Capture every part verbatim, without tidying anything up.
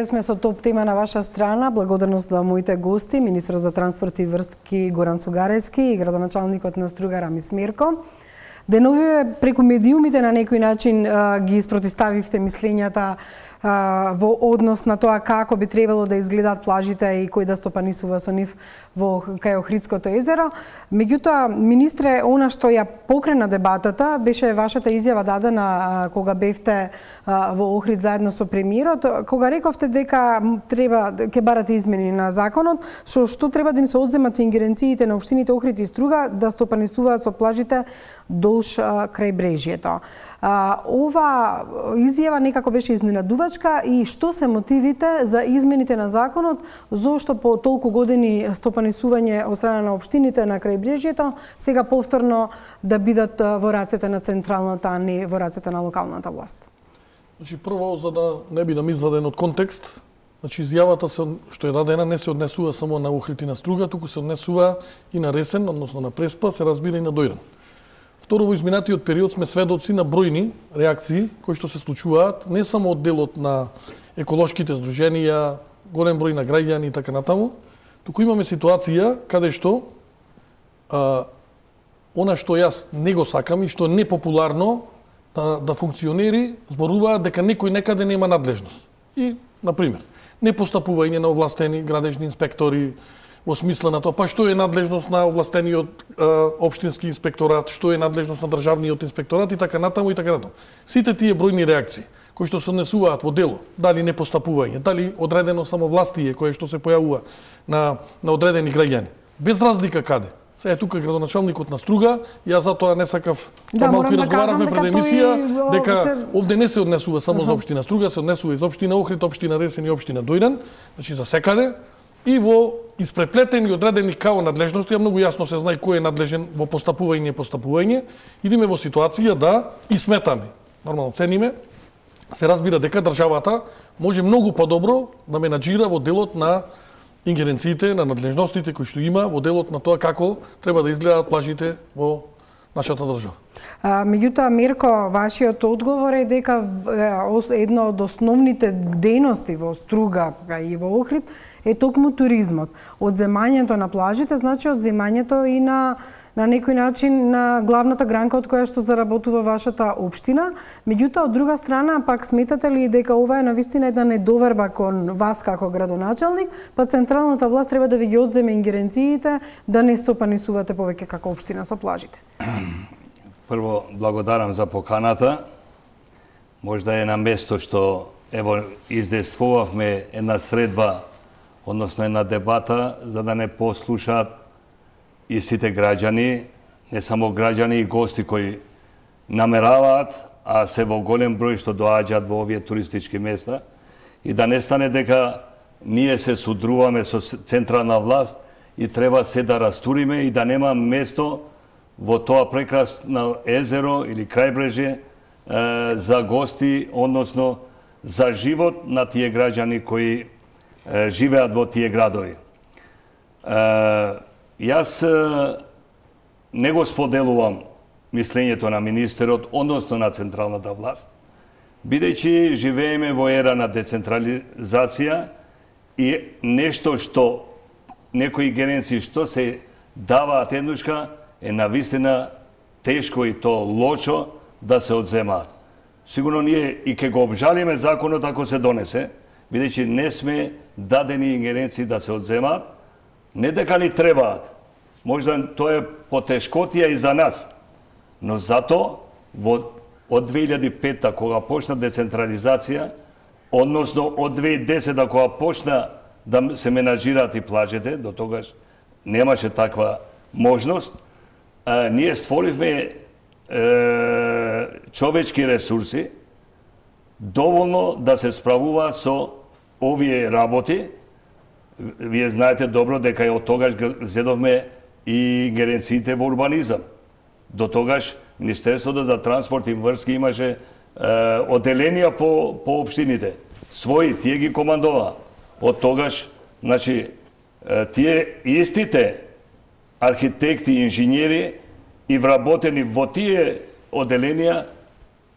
вие сме со топ тема на ваша страна. Благодарност за моите гости, министрот за транспорт и врски Горан Сугарески и градоначалникот на Струга Рамис Мирко. Деновиве преку медиумите на некој начин а, ги спротиставивте мислењата а, во однос на тоа како би требало да изгледаат плажите и кој да стопанисува со нив во кај Охридското езеро. Меѓутоа, министре, она што ја покрена дебатата беше вашата изјава дадена а, кога бевте а, во Охрид заедно со премиерот, кога рековте дека треба ќе барате измени на законот, што што треба да им се одземат ингеренциите на општините Охрид и Струга да стопанисуваат со плажите долж крај брежјето. Ова изјава некако беше изненадувачка и што се мотивите за измените на законот, зошто по толку години стопанисување од страна на општините на крај брежјето сега повторно да бидат во рацете на централната, а не во рацете на локалната власт? Значи, прво, за да не бидам изваден од контекст, значи изјавата се, што е дадена не се однесува само на Охрид и на Струга, туку се однесува и на Ресен, односно на Преспа, се разбира и на Дојран. Второ, во изминатиот период сме сведоци на бројни реакции кои што се случуваат не само од делот на еколошките здруженија, голем број на граѓани и така натаму, туку имаме ситуација каде што а, она што јас не го сакам и што не популарно да, да функционери, зборуваат дека некој некаде нема надлежност. И, например, непостапување на овластени градежни инспектори, во смисла на тоа, па што е надлежност на овластениот е, општински инспекторат, што е надлежност на државниот инспекторат и така натаму и така натаму. Сите тие бројни реакции кои што се однесуваат во дело, дали непостапување, дали одредено самовластие кое што се појавува на на одредени граѓани, без разлика каде. Сега е тука градоначалникот на Струга, јас затоа не сакав, да, малку да разговаравме пред емисија, дека се... овде не се однесува само uh -huh. за општина Струга, се однесува и за општина Охрид, општина Ресен и општина Дојран, значи за секаде. И во испреплетени одредени као надлежности, а многу јасно се знае кој е надлежен во постапување и постапување, идеме во ситуација да и сметаме, нормално цениме, се разбира дека државата може многу подобро да менаџира во делот на ингеренциите, на надлежностите кои што има, во делот на тоа како треба да изгледаат плажите во нашата држава. А, меѓутоа, Мирко, вашиот одговор е дека една од основните дејности во Струга и во Охрид е токму туризмот. Одземањето на плажите значи одземањето и на на некој начин на главната гранка од која што заработува вашата општина. Меѓутоа, од друга страна, пак сметате ли дека ова е навистина една недоверба кон вас како градоначалник, па централната власт треба да ви ги одземе ингеренциите да не стопанисувате повеќе како општина со плажите? Прво, благодарам за поканата. Можда е на место што ево издействувавме една средба, односно една дебата, за да не послушаат и сите граѓани, не само граѓани и гости кои намераваат, а се во голем број што доаѓаат во овие туристички места, и да не стане дека ние се судруваме со централна власт и треба се да растуриме и да нема место во тоа прекрасно езеро или крајбрежје за гости, односно за живот на тие граѓани кои е, живеат во тие градови. Е, Јас не го споделувам мислењето на министерот, односно на централната власт, бидејќи живееме во ера на децентрализација и нешто што некои генерации што се даваат еднушка е навистина тешко и то лошо да се одземаат. Сигурно ние и ќе го обжалиме законот ако се донесе, бидејќи не сме дадени ингеренции да се одземаат, не дека ни требаат. Можда тоа е потешкотија и за нас. Но зато во од две илјади и пета кога почна децентрализација, односно од две илјади и десета кога почна да се менаџираат и плажите, до тогаш немаше таква можност, а, ние створивме е, човечки ресурси доволно да се справува со овие работи. Вие знаете добро дека од тогаш зедовме и ингеренциите во урбанизам. До тогаш Министерството за транспорт и врски имаше е, оделенија по, по општините. Своји, тие ги командова. Од тогаш, значи, е, тие истите архитекти и инженери и вработени во тие оделенија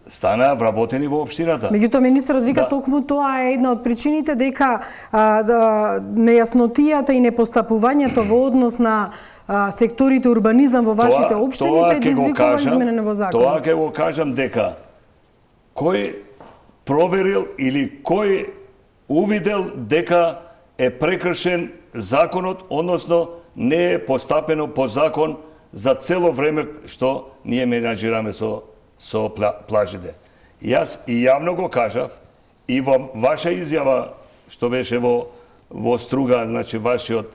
стана вработени во општината. Меѓутоа министерот вика Да. токму тоа е една од причините дека а, да, нејаснотијата и непостапувањето во однос на а, секторите урбанизам во вашите Тоа- општини тоа ќе го предизвикува кажам- изменене во закон. Тоа ќе го кажам дека кој проверил или кој увидел дека е прекршен законот, односно не е постапено по закон за цело време што ние менаџираме со со пла, плажите. Јас и јавно го кажав и во ваша изјава што беше во во Струга, значи вашиот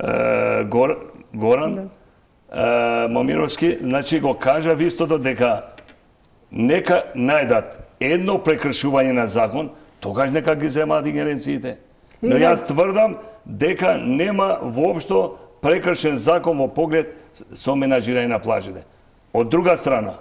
е, Гор, Горан да. е, Момировски, значи го кажав истото дека нека најдат едно прекршување на закон, тогаш нека ги земаат ингеренциите. Но јас тврдам дека нема воопшто прекршен закон во поглед со менаџирање на плажите. Од друга страна,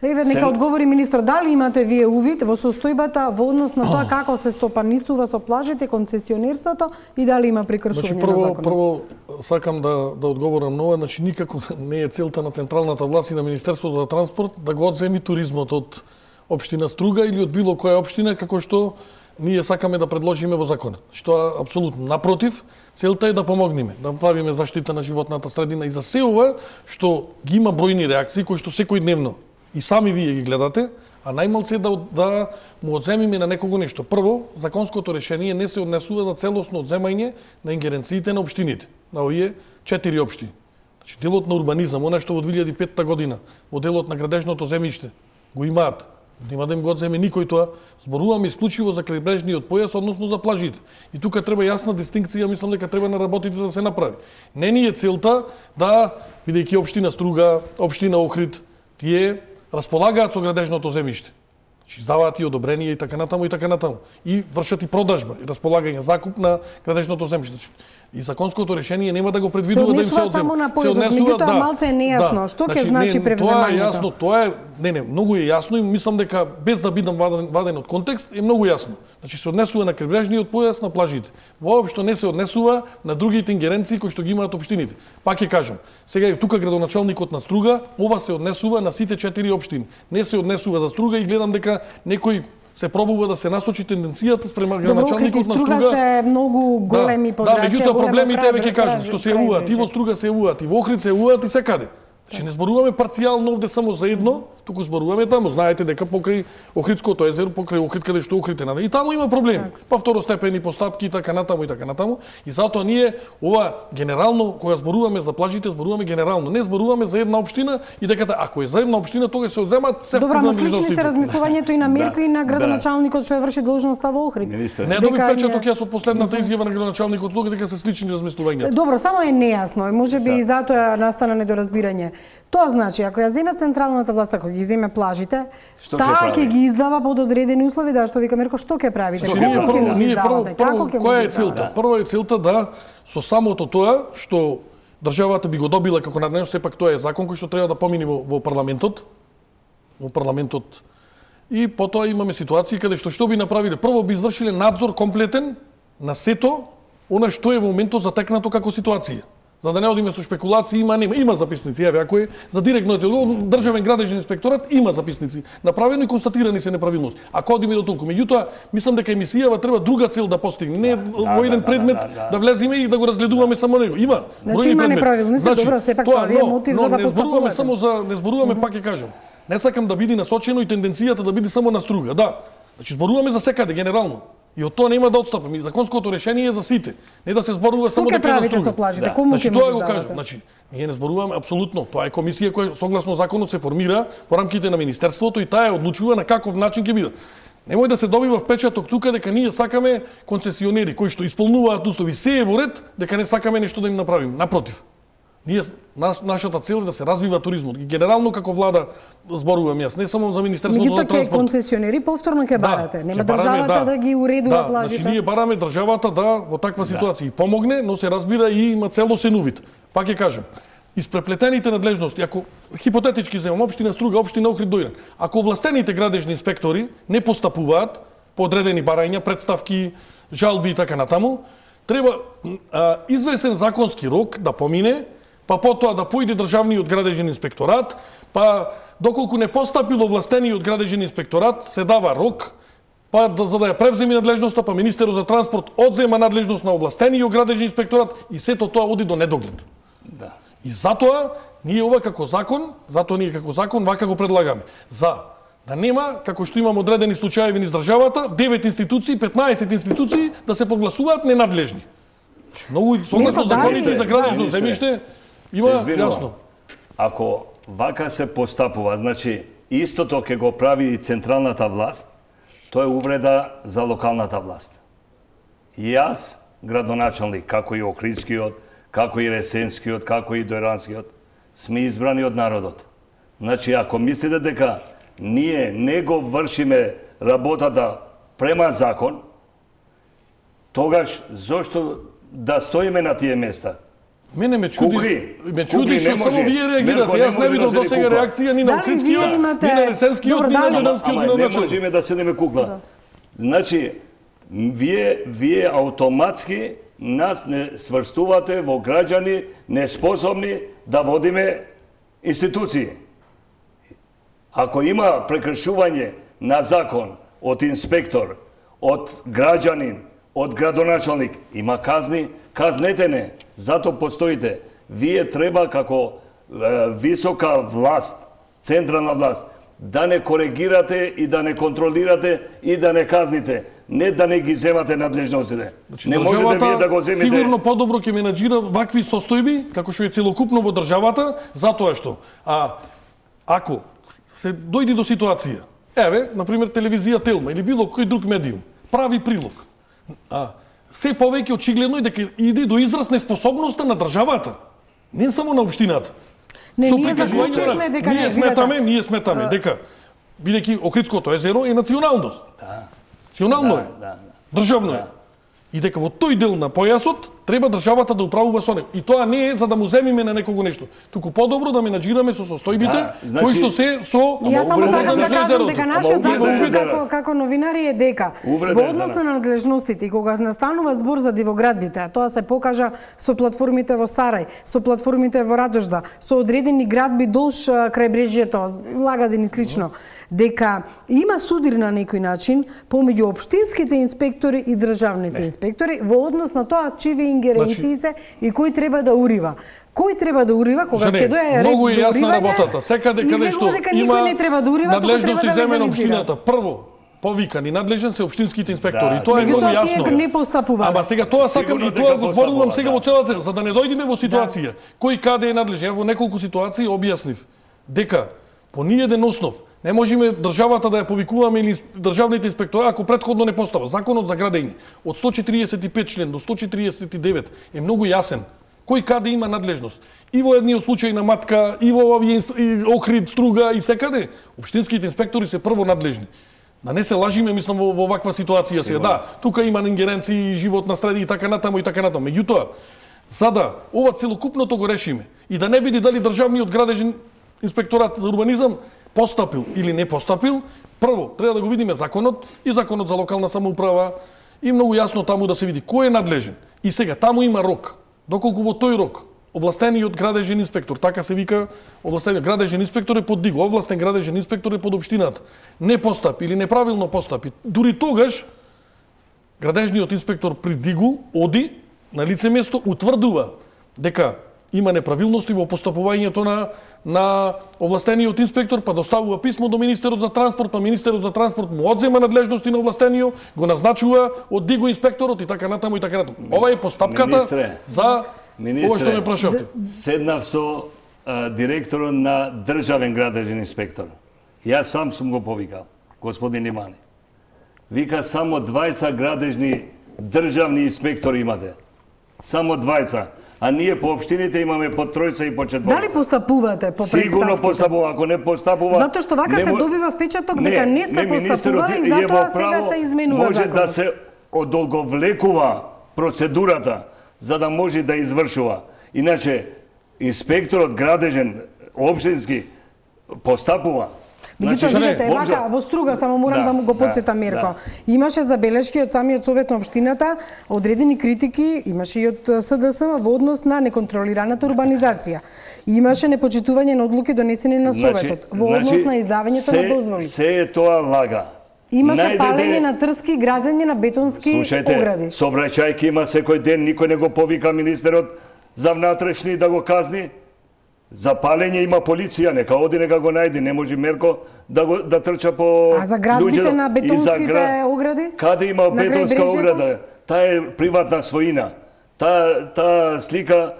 Еве нека се- одговори министр, дали имате вие увид во состојбата во однос на тоа како се стопанисува со плажите, концесионерството и дали има прекршување Значи на прво законот? прво сакам да да одговорам на ова, значи никако не е целта на централната власт и на Министерството за транспорт да го одземи туризмот од општина Струга или од било која општина како што ние сакаме да предложиме во законот. Што апсолутно напротив, целта е да помогнеме, да правиме заштита на животната средина и за се ова што ги има бројни реакции кои што секојдневно и сами вие ги гледате, а најмалце да да му одземиме на некого нешто. Прво, законското решение не се однесува за целосно одземање на ингеренциите на општините, на овие четири општини. Значи делот на урбанизам, она што во две илјади и петта година во делот на градежното земјиште го имаат. Нема да им го одземе никој тоа. Зборуваме исклучиво за крајбрежниот појас, односно за плажите. И тука треба јасна дистинкција, мислам дека треба на работите да се направи. Не ни е целта да, бидејќи општина Струга, општина Охрид, тие располагаат со градежното земјиште. Значи издаваат и одобрение и така натаму и така натаму. И вршат и продажба и располагање, закуп на градежното земјиште. И законското решение нема да го предвидува да им се однесува одзема. само на Се појазот, однесува, меѓутоа малце е нејасно. Што ќе значи не, превземањето? Тоа е јасно, тоа е, не, не, многу е јасно и мислам дека без да бидам ваден, ваден од контекст е многу јасно. Значи се однесува на крайбрежниот појас, на плажите. Воопшто не се однесува на другите ингеренции кои што ги имаат општините. Пак ќе кажам, сега и тука градоначалникот на Струга, ова се однесува на сите четири општини. Не се однесува за Струга и гледам дека некој се пробува да се насочи тенденцијата спрема градоначалникот на Струга. Струга се многу големи подрачја. Да, меѓутоа проблемите еве ќе кажам, што се јавуваат и во крајбрежје. Струга се јавуваат, и во Охрид се јавуваат и секаде. Значи не зборуваме парцијално овде само за едно, туку зборуваме таму. Знаете дека покрај Охридското езеро, покрај Охрид каде што Охрид е наде, и таму има проблеми. Па второстепени постапки и така натаму и така натаму. И затоа ние ова генерално кога зборуваме за плажите, зборуваме генерално. Не зборуваме за една општина и дека ако е за една општина тогаш се одземаат се Добро, ама слични се размислувањето и на Мирко и на градоначалникот што ја врши должноста во Охрид. Министер. Не добив Дека печаток ние- јас од последната изјава на градоначалникот тука дека се слични размислувањата. Добро, само е нејасно и можеби За- и затоа настана недоразбирање. Тоа значи, ако ја земе централната власт, ако ги земе плажите, Што ќе таа прави? ќе ги издава под одредени услови, да, што вика Мирко, што ќе правите? Значи, Како ние ќе прво, ги ние прво, издавате? прво, Како ќе која ги е целта? издавате? Прво е целта да со самото тоа што државата би го добила како наднешно, сепак тоа е закон кој што треба да помине во, во парламентот, во парламентот. И потоа имаме ситуации каде што што би направиле? Прво би извршиле надзор комплетен на сето она што е во моментот затекнато како ситуација. За да не одиме со шпекулации, има нема, има записници, еве ако е за директно државен градежен инспекторат има записници. Направено и констатирани се неправилности. Ако одиме до толку, меѓутоа мислам дека емисијава треба друга цел да постигне, не да, во еден да, предмет да, да, да. да влеземе и да го разгледуваме само него. Има. Значи, бројни има предмети. неправилности, добро, сепак тоа ви е мотив но за да не зборуваме постапувате. само за не зборуваме, пак ќе кажам. Не сакам да биде насочено и тенденцијата да биде само на Струга, да. Значи зборуваме за секаде генерално. И од тоа нема да отстапаме. Законското решение е за сите. Не да се зборува само Што ќе дека е за правите Струга. со плажите? Да. Кому Значи ќе тоа му го ги кажам. издавате? Значи ние не зборуваме апсолутно. Тоа е комисија која согласно законот се формира во рамките на министерството и таа е одлучува на каков начин ќе биде. Немој да се добива впечаток тука дека ние сакаме концесионери кои што исполнуваат услови, се е во ред, дека не сакаме нешто да им направиме. Напротив. Ние наш, нашата цел е да се развива туризмот. И генерално како влада зборувам јас, не само за Министерството Меѓутоа за ќе транспорт. концесионери повторно ќе барате. Нема ќе бараме, државата да ги уредува да, плажите. Значи ние бараме државата да во таква ситуација и помогне, но се разбира и има целосен увид. Пак ќе кажам, испреплетените надлежности, ако хипотетички земам општина Струга, општина Охрид дојден, ако властените градежни инспектори не постапуваат по одредени барања, представки, жалби и така натаму, треба а, извесен законски рок да помине, па потоа да поиде државниот градежен инспекторат, па доколку не постапил овластениот градежен инспекторат, се дава рок, па да, за да ја превземе надлежноста, па министерот за транспорт одзема надлежност на овластениот градежен инспекторат и сето тоа оди до недоглед. Да. И затоа ние ова како закон, затоа ние како закон вака го предлагаме. За да нема, како што имам одредени случаи низ државата, девет институции, петнаесет институции да се прогласуваат ненадлежни. Многу согласно законите за градежно земјиште има јасно. Ако вака се постапува, значи истото ќе го прави и централната власт, тоа е увреда за локалната власт. И јас, градоначалник, како и Охридскиот, како и Ресенскиот, како и Дојранскиот, сме избрани од народот. Значи, ако мислите дека ние не го вршиме работата према закон, тогаш зошто да стоиме на тие места? Мене ме чуди, Кукли. ме чуди Кукли што само вие реагирате. Јас не видов до сега реакција ни на Охридскиот, ни на Ресенскиот, ни на Дојранскиот градоначалник. Не можеме да седиме кукла. Значи, вие, вие автоматски нас не сврстувате во граѓани неспособни да водиме институции. Ако има прекршување на закон од инспектор, од граѓанин, од градоначалник, има казни, казнете не, зато постоите. Вие треба како е, висока власт, централна власт, да не коригирате и да не контролирате и да не казните, не да не ги земате надлежностите. Значи, не можете вие да го земите. Сигурно подобро ќе менаџира вакви состојби, како што е целокупно во државата, затоа што а ако се дојде до ситуација, еве, на пример телевизија Телма или било кој друг медиум прави прилог, а се повеќе очигледно е дека иде до израз неспособноста на државата, не само на општината. Не, ние заклучуваме дека ние сметаме, ние сметаме дека бидејќи Охридското езеро е националност. Да. Национално е. Да, да. Државно е. И дека во тој дел на појасот треба државата да управува со него. И тоа не е за да му земиме на некого нешто, туку подобро да менаџираме со состојбите, Да, значи- кои што се со Јас само Ама сакам да увреден кажам езерото. дека Ама нашиот увреден закон за како, нас. како новинари е дека Увреден во за однос нас. на надлежностите и кога настанува збор за дивоградбите, а тоа се покажа со платформите во Сарај, со платформите во Радожда, со одредени градби долж а, крајбрежјето, Лагадин и слично, дека има судир на некој начин помеѓу општинските инспектори и државните инспектори во однос на тоа чиви ингеренции се и кој треба да урива. Кој треба да урива кога Жене, ќе дое ред многу е до јасна уривање, работата. Секаде каде што излегува дека има никој не треба да урива, туку треба надлежности да земена легализира. општината. Прво, повикан и надлежен се општинските инспектори. Да, И тоа е сега многу тоа јасно. тие не постапуваат. Ама сега тоа сакам Сигурно и дека тоа го зборувам постапуваат, сега да. во целата, за да не дојдеме во ситуација. Кој каде е надлежен? Ево во неколку ситуации објаснив дека по ниеден основ не можеме државата да ја повикуваме или државните инспектори ако претходно не постава. Законот за градење од сто четиридесет и пет член до сто четиридесет и девет е многу јасен. Кој каде има надлежност? И во едниот случај на Матка, и во овие инст- и Охрид, Струга и секаде, општинските инспектори се прво надлежни. Да не се лажиме, мислам, во, во ваква ситуација се. Да, тука има ингеренции, живот на среди и така натаму и така натаму. Меѓутоа, за да ова целокупното го решиме и да не биде дали државниот градежен инспекторат за урбанизам постапил или не постапил, прво треба да го видиме законот и законот за локална самоуправа и многу јасно таму да се види кој е надлежен. И сега таму има рок. Доколку во тој рок овластениот градежен инспектор, така се вика, овластениот градежен инспектор е под диго, овластен градежен инспектор е под општината, не постапи или неправилно постапи, дури тогаш градежниот инспектор при дигу оди на лице место, утврдува дека има неправилности во постапувањето на на овластениот инспектор, па доставува писмо до министерот за транспорт, па министерот за транспорт му одзема надлежности на овластениот, го назначува од диго инспекторот и така натаму и така натаму. Ова е постапката Министре, за Министре, ова што ме прашавте. Седнав со а, директорот на државен градежен инспектор. Јас сам сум го повикал, господин Имани. Вика само двајца градежни државни инспектори имате. Само двајца. А ние по општините имаме по тројца и по четворица. Дали постапувате по представките? Сигурно постапува, ако не постапува... Затоа што вака не се мо- добива впечаток дека не сте постапували и е во затоа сега право, се изменува може законот. да се одолговлекува процедурата за да може да извршува. Иначе инспекторот градежен општински постапува. Меѓутоа, Значи, видете, не, вака, во Струга, само морам да, Да, му го да, подсетам Мирко. Имаше забелешки од самиот совет на општината, одредени критики, имаше и од СДСМ во однос на неконтролираната урбанизација. Имаше непочитување на одлуки донесени на советот, во однос на издавањето на дозволи. Се е тоа лага. Имаше Најде палење де- на трски и градење на бетонски Слушајте, огради. сообраќајки има секој ден, никој не го повика министерот за внатрешни да го казни. За палење има полиција, нека оди, нека го најди, не може Мерко да го да трча по А за градбите луѓето. на И за бетонските гра- огради? Каде има На крај бетонска Брежето? ограда? Таа е приватна своина. Таа таа слика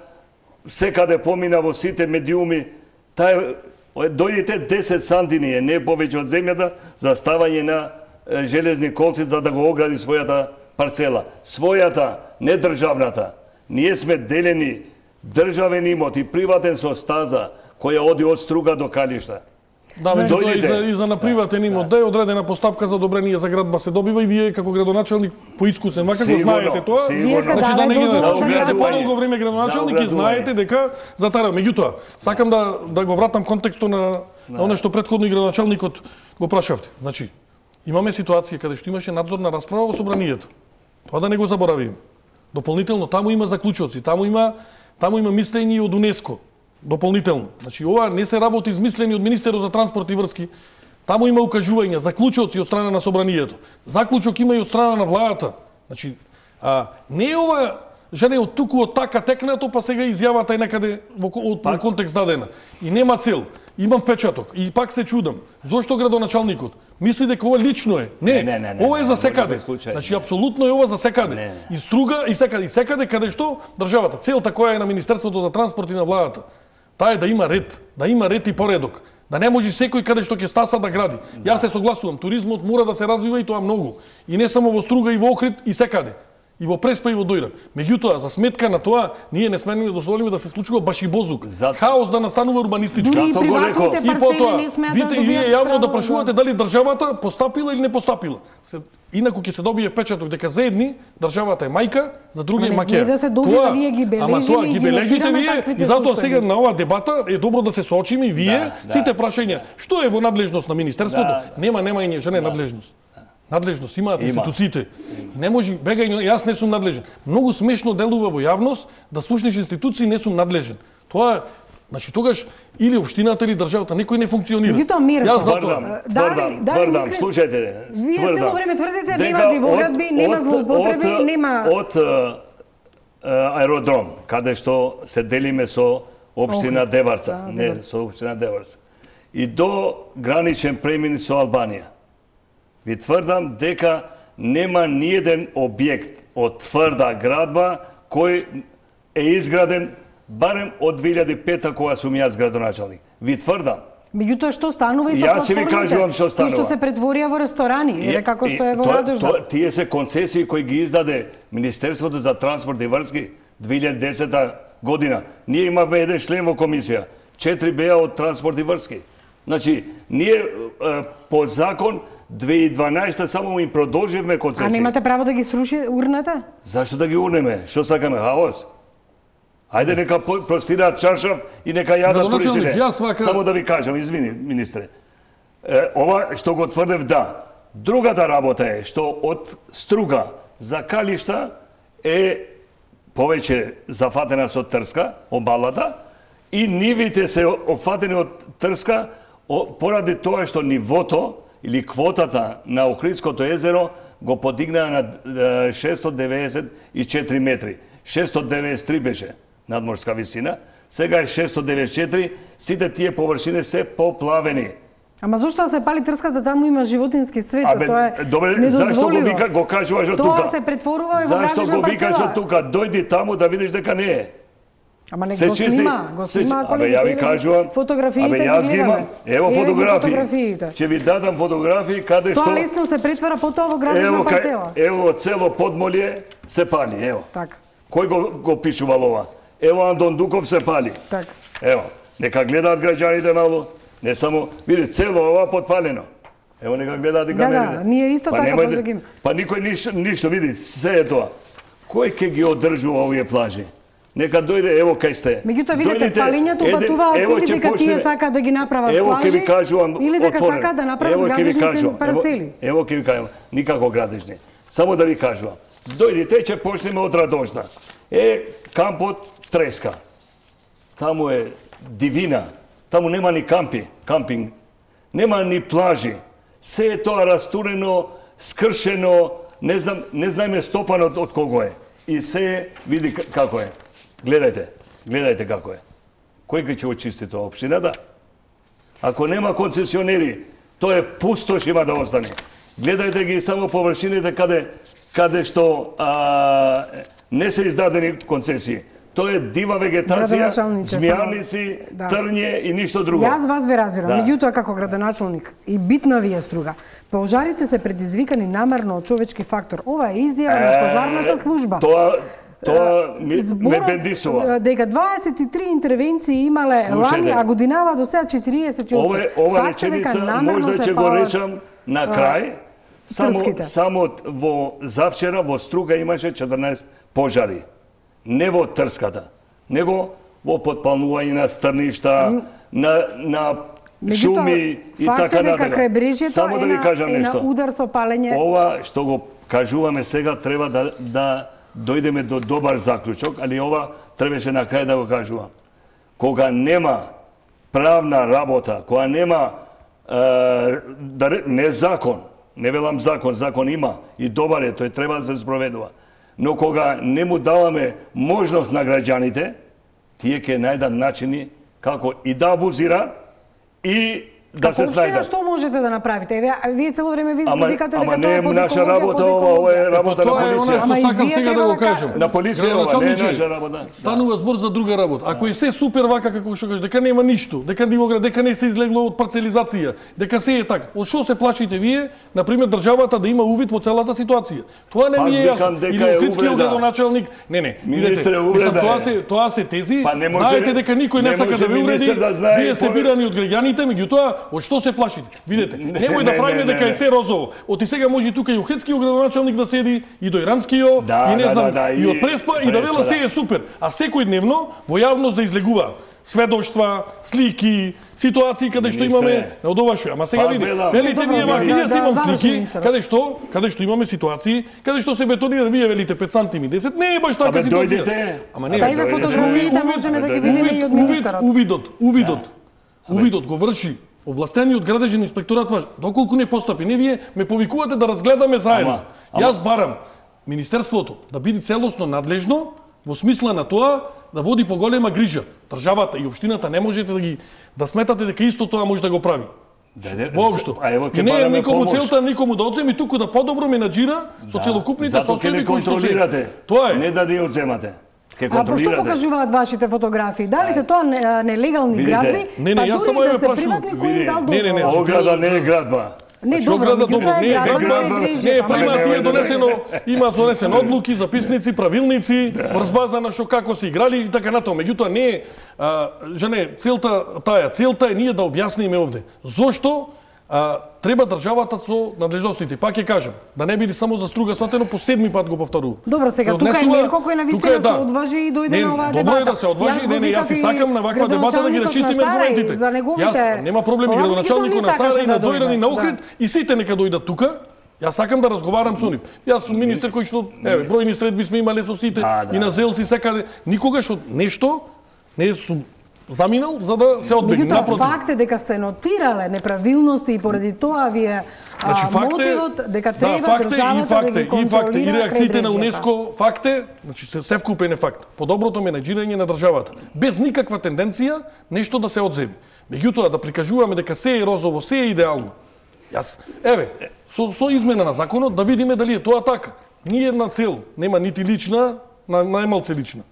секаде помина во сите медиуми. Таа е дојдете десет сантини, е не повеќе од земјата за ставање на е, железни колци за да го огради својата парцела. Својата, не државната. Ние сме делени државен имот и приватен со стаза која оди од Струга до Калишта. Да, меѓутоа и Дојдете. за, и за на приватен имот, да е одредена постапка за одобрение за градба се добива и вие како градоначалник поискусен, вака го Сигурно, знаете тоа. сигурно. Вие сте Значи да не дали ги дозвола за да оградување. подолго време градоначалник За и знаете дека за тара. Меѓутоа, сакам да да го вратам контекстот на на оно што претходно и градоначалникот го прашавте. Значи, имаме ситуација каде што имаше надзорна расправа во собранието. Тоа да не го заборавиме. Дополнително таму има заклучоци, таму има таму има мислење и од УНЕСКО. Дополнително. Значи ова не се работи измислени од Министерот за транспорт и врски. Таму има укажувања, заклучоци од страна на собранието. Заклучок има и од страна на владата. Значи, а, не е ова жене од туку од така текнато, па сега изјавата е некаде во, од, во контекст дадена. И нема цел. Имам печаток. И пак се чудам. Зошто градоначалникот мисли дека ова лично е? Не, Не, не, не, не, ова е не, за може секаде. да е случај. Значи, апсолутно е ова за секаде. Не, не. И Струга, и секаде, и секаде каде што државата. Целта која е на Министерството за транспорт и на владата, таа е да има ред, да има ред и поредок. Да не може секој каде што ќе стаса да гради. Да. Јас се согласувам, туризмот мора да се развива и тоа многу. И не само во Струга, и во Охрид, и секаде. И во Преспа, и во Дојран. Меѓутоа, за сметка на тоа, ние не сме да дозволиме да се случува баш и бозук. За- Хаос да настанува урбанистички. Дури и Зато го реков. приватните И парцели потоа, не смеат да видите, и вие добијат јавно да право. прашувате дали државата постапила или не постапила. Се, инаку ќе се добие впечаток дека за едни државата е мајка, за други е Ама не, маќер. не да се добива, ние ги бележиме ама тоа и ги ги бележите нотираме вие таквите и затоа случаи. сега на оваа дебата е добро да се соочиме и вие Да, да, сите прашања. Што е во надлежност на министерството? Да, Нема, нема и не жене надлежност. Надлежност имаат Има. институциите. Не може бегање, јас не сум надлежен. Многу смешно делува во јавност да слушнеш институции не сум надлежен. Тоа значи тогаш или општината или државата некој не функционира. Меѓутоа, Мирко, Јас затоа Тврдам, Дали- тврдам, дали тврдам, мислите- слушајте. Вие тврдам, цело време тврдите, дека нема дивоградби, од- нема од- злоупотреби, од- нема- Од е, е, аеродром, каде што се делиме со општина Охрид. Деварца, Да, не Деварца. со општина Деварца, и до граничен премин со Албанија. Ви тврдам дека нема ниеден објект од тврда градба кој е изграден барем од две илјади и пета кога сум јас градоначалник. Ви тврдам. Меѓутоа што станува и со Јас ќе ви платформите? кажувам што станува. Кои што се претворија во ресторани, или како што е во тоа- Радожда. тоа- Тие се концесии кои ги издаде Министерството за транспорт и врски две илјади и десета година. Ние имавме еден член во комисија, четири беа од транспорт и врски. Значи, ние е, по закон две илјади и дванаесета само им продолживме А концесии. немате право да ги сруши урната? Зашто да ги урнеме? Што сакаме, хаос? Ајде нека по- простираат чаршав и нека јадат Градоначалник, туристите. јас вака- Само да ви кажам, извини, министре. Е, ова што го тврдев, да. Другата работа е што од Струга за Калишта е повеќе зафатена со трска, обалата, и нивите се опфатени од трска о- поради тоа што нивото или квотата на Охридското езеро го подигнаа на е, шестстотини деветдесет и четири метри. шестстотини деветдесет и три беше надморска висина, сега е шестстотини деветдесет и четири, сите тие површини се поплавени. Ама зошто да се пали трската, таму има животински свет, Абе, тоа е добре, недозволиво. зашто го вика, го кажуваш од тука? Тоа се претворува и во Зашто градична го викаш парцела. од тука? Дојди таму да видиш дека не е. Ама не Се го чисти, снима, го се снима чи- Абе, ја ви кажувам, фотографиите абе, ги јас ги гледаме. имам. Ево Еве ги фотографии. фотографиите. Ќе ви дадам фотографии каде што... Тоа лесно се претвара потоа во градична Ево, кај, парцела. ево цело подмолје се пали, ево. Така, Кој го, го пишувал ова? Ево Андон Дуков се пали. така. Ево, нека гледаат граѓаните малу, не само, види, цело ова подпалено. Ево, нека гледаат и Да, камерите. да, ние исто така немајте- позагим. Па никој ништо, ништо, види, се е тоа. Кој ќе ги одржува овие плажи? Нека дојде, ево кај сте. Меѓутоа видите, палењето упатуваат или дека тие сакаат да ги направат плажи, или дека сакаат да направат градежни парцели. Ево ќе ви кажувам, никако градежни. Само да ви кажувам. Дојдите, ќе почнеме од Радожна. Е, кампот треска. Таму е дивина. Таму нема ни кампи, кампинг. Нема ни плажи. Се е тоа растурено, скршено, не знам, не знаеме стопано од кого е. И се види како е. Гледајте, гледајте како е. Кој ќе очисти тоа, општината? Ако нема концесионери, тоа е пустош има да остане. Гледајте ги само површините каде каде што а, не се издадени концесии. Тоа е дива вегетација, змијавници, да. Трње и ништо друго. Јас вас ве разбирам, да. Меѓутоа како градоначалник и битна ви е Струга. Пожарите се предизвикани намерно од човечки фактор. Ова е изјава е, на пожарната служба. Тоа Тоа ми, ме бендисува. Дека дваесет и три интервенции имале лани, а годинава до сега четириесет и осум. Ова, ова реченица можда ќе го речам на крај. Само, само во завчера во Струга имаше четрнаесет пожари. Не во Трската, него во подпалнување на стрништа, на, на шуми и така натаму. Само да ви кажам нешто. На удар со палење. Ова што го кажуваме сега треба да, да дојдеме до добар заклучок, али ова требаше на крај да го кажувам. Кога нема правна работа, кога нема е, да, не закон, не велам закон, закон има и добар е, тој треба да се спроведува. Но кога не му даваме можност на граѓаните, тие ќе најдат начини како и да абузираат и да се снајдат. Што можете да направите? Еве, вие цело време видите викате дека тоа е не е наша работа, ова е работа на полиција. Ама сакам сега да го кажам. На полиција ова не е наша работа. Станува збор за друга работа. Ако е се супер вака како што кажеш, дека нема ништо, дека нивоград, дека не се излегло од парцелизација, дека се е така. Од што се плашите вие, на пример државата да има увид во целата ситуација? Тоа не ми е јасно. Или Охридскиот градоначалник, не, не. Министре, увреда. Тоа се тоа се тези. Знаете дека никој не сака да ве увреди. Вие сте бирани од граѓаните, меѓутоа од што се плашите? Видете, немој да правиме дека е се розово. Оти сега може тука и Охридскиот градоначалник да седи, и до Иранскиот, и не знам, и од Преспа, и да вела се е супер. А секој дневно во јавност да излегува сведоштва, слики, ситуации каде што имаме од ова што. Ама сега види, велите вие вака, јас имам слики каде што, каде што имаме ситуации, каде што се бетонира, вие велите пет сантими десет, не е баш така ситуација. Ама не, да фотографиите можеме да ги видиме и од министерот. Увидот, увидот. Увидот го врши овластениот градежен инспекторат ваш. Доколку не постапи, не вие ме повикувате да разгледаме заедно. Јас барам Министерството да биде целосно надлежно во смисла на тоа да води поголема грижа. Државата и општината не можете да ги да сметате дека исто тоа може да го прави. Воопшто. И не е никому целта никому да одземи, туку да подобро менаџира со целокупните состојби кои што се. Тоа е. Не да ги одземате. А пошто покажуваат вашите фотографии? Дали се тоа нелегални градби? Не, не, јас само ја прашувам. Не, не, не, ограда не е градба. Не, добро, меѓутоа е градба на грижа. Не, па има тие донесено, има донесено одлуки, записници, правилници, врз база на што како се играли и така натаму. Меѓутоа не е, жене, целта таја, целта е ние да објасниме овде. Зошто а, треба државата со надлежностите. Пак ќе кажам, да не биде само за Струга сватено, по седми пат го повторувам. Добро, сега тука е Мирко кој на вистина се одважи и дојде на оваа дебата. Добро е да се одважи, не, не, јас и сакам на ваква дебата да ги расчистиме аргументите. Јас нема проблеми, градоначалникот на Сарај, на Дојран и на Охрид и сите нека дојдат тука. Јас сакам да разговарам со нив. Јас сум министер кој што, еве, бројни средби сме имале со сите и на Зелси секаде. Никогаш од нешто не сум заминал за да се одбегне. Меѓутоа, факт е дека се нотирале неправилности и поради тоа ви е значи, мотивот дека треба да, државата да ги контролира и реакциите на УНЕСКО, факт е, значи се се вкупен е факт. Подоброто менаџирање на државата, без никаква тенденција нешто да се одземи. Меѓутоа да прикажуваме дека се е розово, се е идеално. Јас, еве, со, со измена на законот да видиме дали е тоа така. Ни една цел, нема нити лична, на најмалце лична.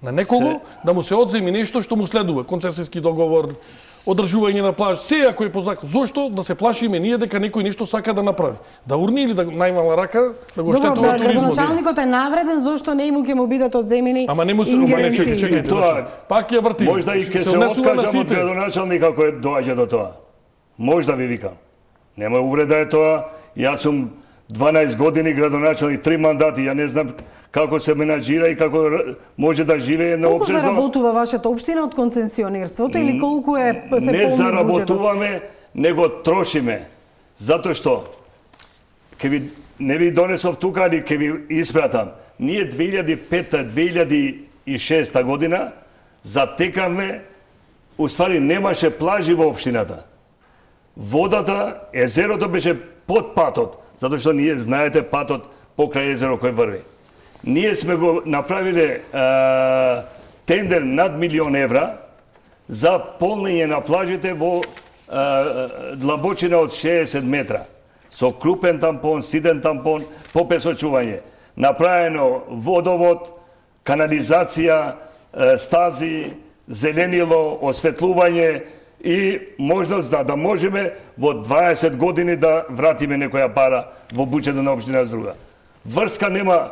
На некого се... да му се одземи нешто што му следува, концесијски договор, одржување на плаж, се ако е по закон. Зошто да се плашиме ние дека некој нешто сака да направи? Да урни или да најмала рака да го штетува туризмот? Добро, градоначалникот е навреден, зошто не му ќе му бидат одземени. Ама не му се, ама не чекај, чекај, тоа. Пак ја врти. Можда и ќе се откажам од градоначалник ако е доаѓа до тоа. Можда ви викам. Нема увреда е тоа. Јас сум дванаесет години градоначалник, три мандати, ја не знам како се менаџира и како може да живее на Колку општина. заработува вашата општина од концесионерството или колку е се полни Не буџетот? заработуваме, него трошиме. Затоа што ќе ви не ви донесов тука, али ќе ви испратам. Ние две илјади и пета две илјади и шеста година затекавме, уствари немаше плажи во општината. Водата, езерото беше под патот, затоа што ние знаете патот покрај езеро кој врви. Ние сме го направиле е, тендер над милион евра за полнење на плажите во е, длабочина од шеесет метра. Со крупен тампон, сиден тампон, попесочување. Направено водовод, канализација, е, стази, зеленило, осветлување и можност да, да можеме во дваесет години да вратиме некоја пара во буџетот на општина Здруга. Врска нема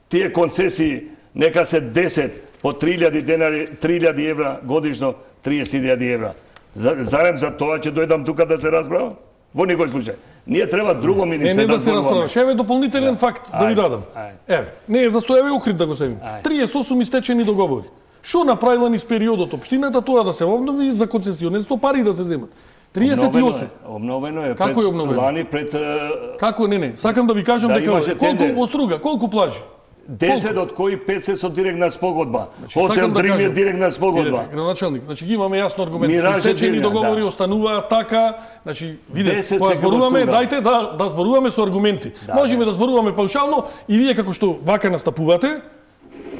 тие концесии, нека се десет по три илјади денари, три илјади евра годишно, триесет илјади евра. Зарем за тоа ќе дојдам тука да се разбрава? Во никој случај. Ние треба друго министерство. Не, не да се расправаш. Еве дополнителен факт да ви дадам. Еве, не е застојаве Охрид да го седим. триесет и осум истечени договори. Што направила низ периодот општината тоа да се обнови за концесионерство, пари да се земат. триесет и осум. Обновено е. Како е обновено? Лани пред Како не не, сакам да ви кажам да, дека колку во Струга, колку плажи? десет од кои петдесет со директна спогодба. Значи, Хотел да Дрим е кажам, директна спогодба. Видете, градоначалник, значи ги имаме јасно аргументи. Мираже Истечени Дрим, договори да. остануваат така, значи видете, десет кога секој во зборуваме, Струга. дајте да да зборуваме со аргументи. Да, Можеме да. да зборуваме паушално и вие како што вака настапувате,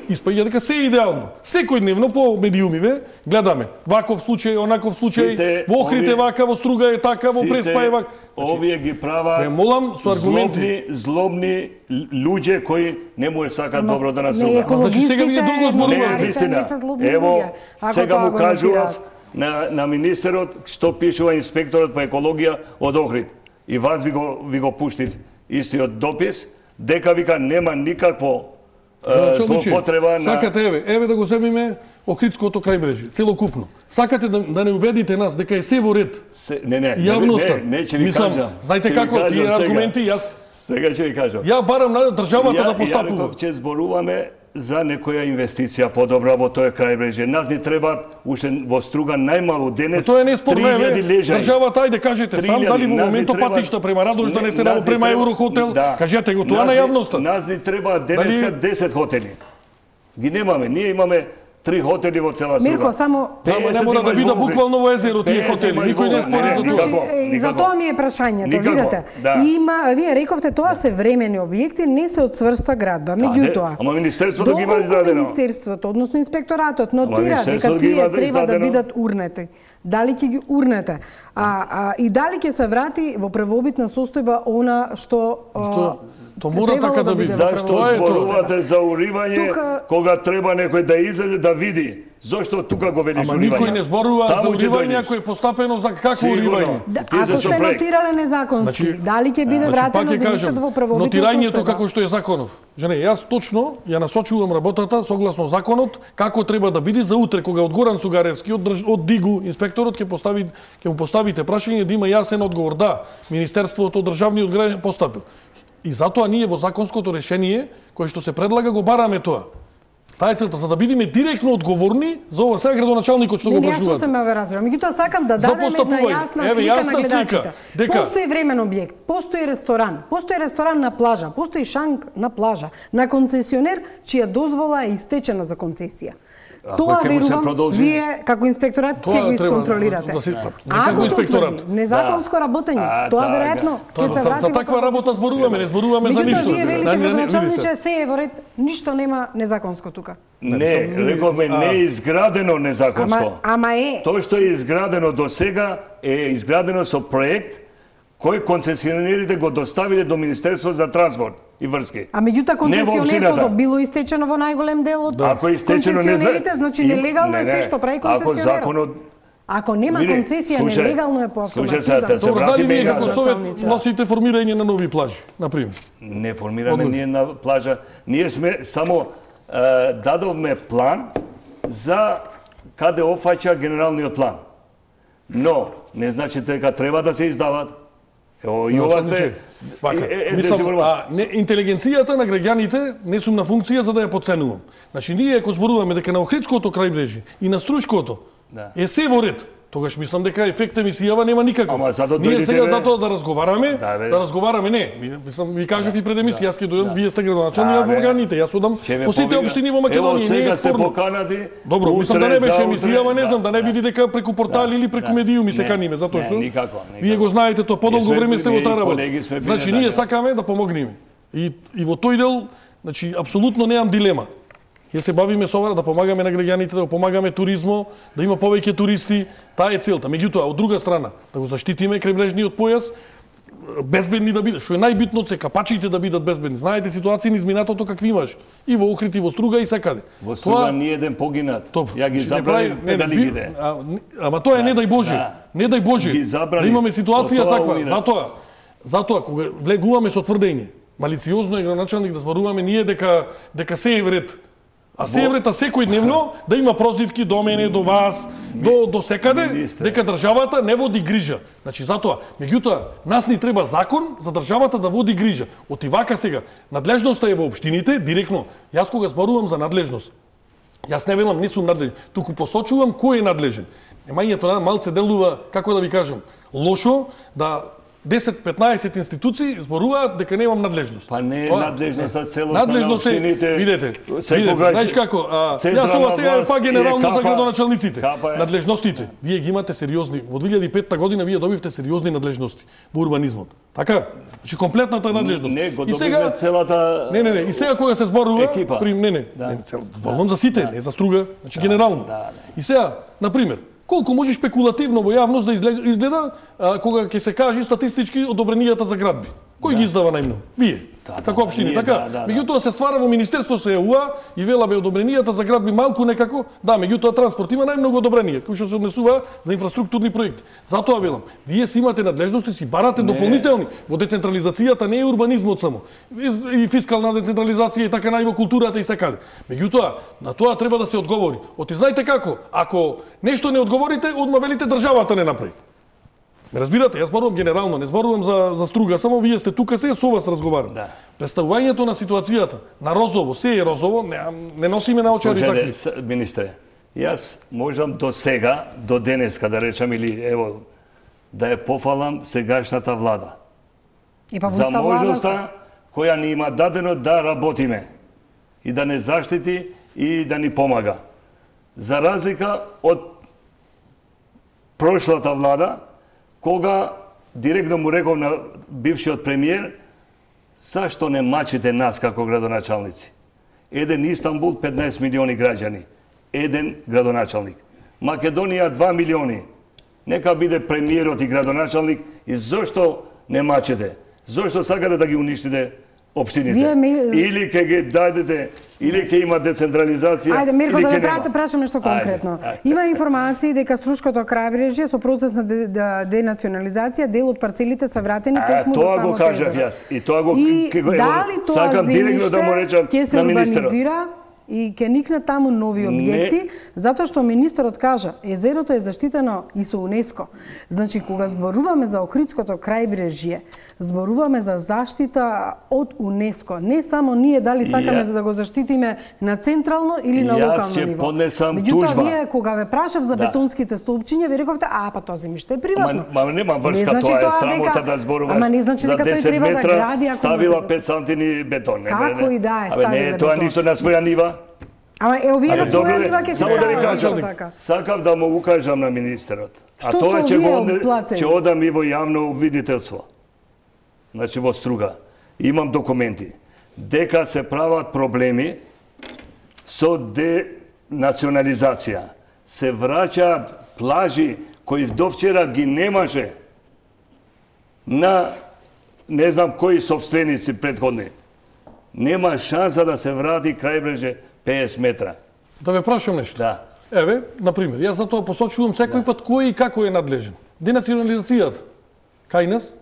испаѓа дека се е идеално. Секојдневно по медиумиве гледаме ваков случај, онаков случај, Сите во Охрид е овие- вака, во Струга е така, во Преспа е вака. Овие ги прават Ве молам со аргументи. злобни, злобни луѓе кои не му е сакат добро да Не, наступат. Значи, сега вие друго зборувате. Не, новинарите вистина. не се злобни Ево, луѓе, ако сега тоа му го кажував нотираат. на, на министерот што пишува инспекторот по екологија од Охрид. И вас ви го, ви го пуштив истиот допис, дека вика нема никакво е, злоупотреба на... Сакате, еве, еве да го земиме Охридското крајбрежје, целокупно. Сакате да, да не убедите нас дека е се во ред. Се, не, не, Јавноста. не, не, ќе ви Мислам, кажам. знаете Ќе ви како кажам тие сега. аргументи, јас Сега ќе ви кажам. ја барам на државата Ја, да ја постапува. реков, ќе зборуваме за некоја инвестиција подобра во тој крајбрежје. Нас ни требаат уште во Струга најмалу денес Тоа е неспорно, еве, три илјади лежаи. државата, ајде кажете сам три илјади, дали во нас ни моментот треба- патишта према Радош да не се нас ни навопрема треба- Еврохотел, да. кажете го тоа Нас на ни- јавноста. Нас ни треба денеска Дали- десет хотели. Ги немаме, ние имаме три хотели во цела Струга. Мирко, само Ама не мора да биде буквално во езеро тие хотели, никој не спори за не, тоа. никако, Значи, и за никако. тоа ми е прашањето, Никако, видете. да. Има, вие рековте тоа се времени објекти, не се од цврста градба. Меѓутоа, ама Министерството ги има доколку издадено. Министерството, односно инспекторатот нотира дека Министерството ги тие има треба да издадено. бидат урнети. Дали ќе ги урнете? А, а и дали ќе се врати во правобитна состојба она што Тоа- тоа мора требало така да биде. во Зашто Тоа е тоа. зборувате за уривање Тука- кога треба некој да излезе да види? Зошто тука го велиш Ама уривање? никој не зборува за Таму ќе уривање дојдеш. ако е постапено за какво Сигурно. уривање. Да, Тие се ако со сте проект. нотирале незаконски, Значи- дали ќе биде Значи, вратено пак ќе кажам, земјиштето во правобитна нотирањето состојба? како што е законов. Жене, јас точно ја насочувам работата согласно законот како треба да биде за утре кога од Горан Сугаревски од, држ... од Дигу инспекторот ќе постави ќе му поставите прашање да има јасен одговор. Да, Министерството државниот граѓан постапил. И затоа ние во законското решение кое што се предлага го бараме тоа. Таа е целта, за да бидеме директно одговорни за ова. Сега градоначалникот што Не, го не, јас прашуваат. сум ме разбрам. Меѓутоа сакам да За дадеме една постапување. јасна Еве, слика јасна на слика. гледачите. Дека- Постои времен објект, постои ресторан, постои ресторан на плажа, постои шанк на плажа, на концесионер чија дозвола е истечена за концесија. Ако Тоа ќе му се верувам, продолжи? вие како инспекторат Тоа ќе го треба исконтролирате. да се- не А како ако се инспекторат. утврди незаконско работење, А, тоа така. веројатно Тоа, ќе се за, врати за во таква правобитна работа зборуваме, не зборуваме за Меѓутоа, ништо. вие велите Да, не, не, видите. градоначалниче се е во ред, ништо нема незаконско тука. Не, рековме не е изградено незаконско. Ама, ама е. Тоа што е изградено до сега е изградено со проект кој концесионерите го доставиле до Министерството за транспорт и врски. А меѓутоа Не во концесионерството општината. било истечено во најголем дел од Ако е истечено не знае. концесионерите, значи Им- нелегално е не, не. се што прави Ако концесионерот. законот Ако нема Види, концесија, слушај, нелегално е по слушај автоматизам. сега, да се Добро, дали вратиме вие и како назад. совет Началниче. носите формирање на нови плажи, на пример? не формираме Одговор. ние на плажа. Ние сме само е, дадовме план за каде опфаќа генералниот план. Но не значи дека треба да се издават. Ево, и ова сте... Вака, мислам, а, не, интелигенцијата на граѓаните не сум на функција за да ја подценувам. Значи, ние ако зборуваме дека на Охридското крајбрежје и на Струшкото да. Е се во ред, тогаш мислам дека ефект емисијава нема никаков. Ама зато ние сега бе... да тоа да разговараме, да, да разговараме не. Мислам, ви кажав да, и пред емисија, јас ќе дојдам, да. Вие сте градоначалник на Бурганите, јас одам по сите општини во Македонија, не е спорно. Добро, мислам да не беше емисија, ама не знам, да не биде дека преку портали или преку медиуми се каниме, затоа што вие го знаете тоа, подолго време сте во таа работа. Значи ние сакаме да помогнеме. И и во тој дел, значи апсолутно немам дилема. Ја се бавиме со ова да помагаме на граѓаните, да помагаме туризмо, да има повеќе туристи, таа е целта. Меѓутоа, од друга страна, да го заштитиме крајбрежниот појас, безбедни да биде. Што е најбитно се капачите да бидат безбедни. Знаете ситуации низ минатото какви имаш. И во Охрид, и во Струга, и секаде. Во Струга тоа... ни еден погинат. Топ. Ја ги забрави дали биде. А, ама тоа е да, не дај Боже. Да. Не дај Боже. Да имаме ситуација таква. Затоа, затоа кога влегуваме со тврдење, малициозно е градоначалник да зборуваме ние дека дека се е вред. А се еврета секојдневно да има прозивки до мене, до вас, до до секаде, министре, дека државата не води грижа. Значи затоа, меѓутоа, нас ни треба закон за државата да води грижа. Оти вака сега, надлежноста е во општините, директно. Јас кога зборувам за надлежност, јас не велам не сум надлежен, туку посочувам кој е надлежен. Немањето на малце делува, како да ви кажам, лошо да десет-петнаесет институции зборуваат дека немам надлежност. Па не е надлежноста целоста на општините. Видете, видете, знаеш како, а, јас ова сега па генерално за градоначалниците. Надлежностите. Вие ги имате сериозни. Во две илјади и петта година вие добивте сериозни надлежности во урбанизмот. Така? Значи комплетната надлежност. Не, го добивме целата Не, не, не, и сега кога се зборува екипа. При не, не, да. не цел, зборувам за сите, да. Не за Струга, значи да, генерално. Да, да. И сега, на пример, колку може шпекулативно во јавност да изгледа а, кога ќе се кажи статистички одобренијата за градби. Кој да. Ги издава најмногу? Вие. Да, како општини, да, така? Да, да, меѓутоа се ствара во Министерство се ЕУА и веламе одобренијата за градби малку некако, да, меѓутоа транспорт има најмногу одобренија, кои што се однесува за инфраструктурни проекти. Затоа велам, вие си имате надлежности, си барате не. Дополнителни. Во децентрализацијата не е урбанизмот само. И фискална децентрализација и така нај во културата и секаде. Меѓутоа, на тоа треба да се одговори. Оти знаете како? Ако нешто не одговорите, одма велите државата не направи. Ме разбирате, јас зборувам генерално, не зборувам за за Струга, само вие сте тука, се со вас разговарам. Да. Представувањето на ситуацијата на розово, се е розово, не, не носиме наочари такви. Министре, јас можам до сега, до денеска да речам или ево да ја пофалам сегашната влада. И па за можноста која ни има дадено да работиме и да не заштити и да ни помага. За разлика од прошлата влада, кога директно му реков на бившиот премиер, зашто не мачите нас како градоначалници? Еден Истанбул, петнаесет милиони граѓани. Еден градоначалник. Македонија, два милиони. Нека биде премиерот и градоначалник и зошто не мачите? Зошто сакате да ги уништите општините? Ми... Или ќе ги дадете, или ќе има децентрализација. Ајде, Мирко, да ве прашам нешто конкретно. Ајде, ајде. Има информации дека Струшкото крајбрежје со процес на денационализација дел од парцелите се вратени токму до само тоа го кажав јас. И тоа го и дали тоа сакам директно да му речам на министерот. И ќе никнат таму нови објекти, не. Затоа што министерот кажа, езерото е заштитено и со УНЕСКО. Значи, кога зборуваме за Охридското крајбрежје, зборуваме за заштита од УНЕСКО. Не само ние дали сакаме ја... за да го заштитиме на централно или на локално ниво. Јас ќе поднесам Меѓутоа, тужба. Вие кога ве прашав за да. бетонските столпчиња, ви рековте, а па тоа земјиште е приватно. Ма, ма нема врска, не значи тоа е дека... срамота да зборуваш. Ама не значи дека тој треба да гради, ставила пет сантини бетон. Како и да е ставила бетон. Не, тоа ништо на своја нива. Ама е овие на своја нива ќе се стават така. Сакав да му укажам на министерот. А тоа ќе го ќе одам и во јавно обвинителство. Значи во Струга. Имам документи дека се прават проблеми со денационализација. Се враќаат плажи кои довчера ги немаше на не знам кои собственици претходни. Нема шанса да се врати крајбрежје петдесет метра. Да ве прашам нешто. Да. Еве, на пример, јас за тоа посочувам секој да. Пат кој и како е надлежен. Денационализацијата кај нас,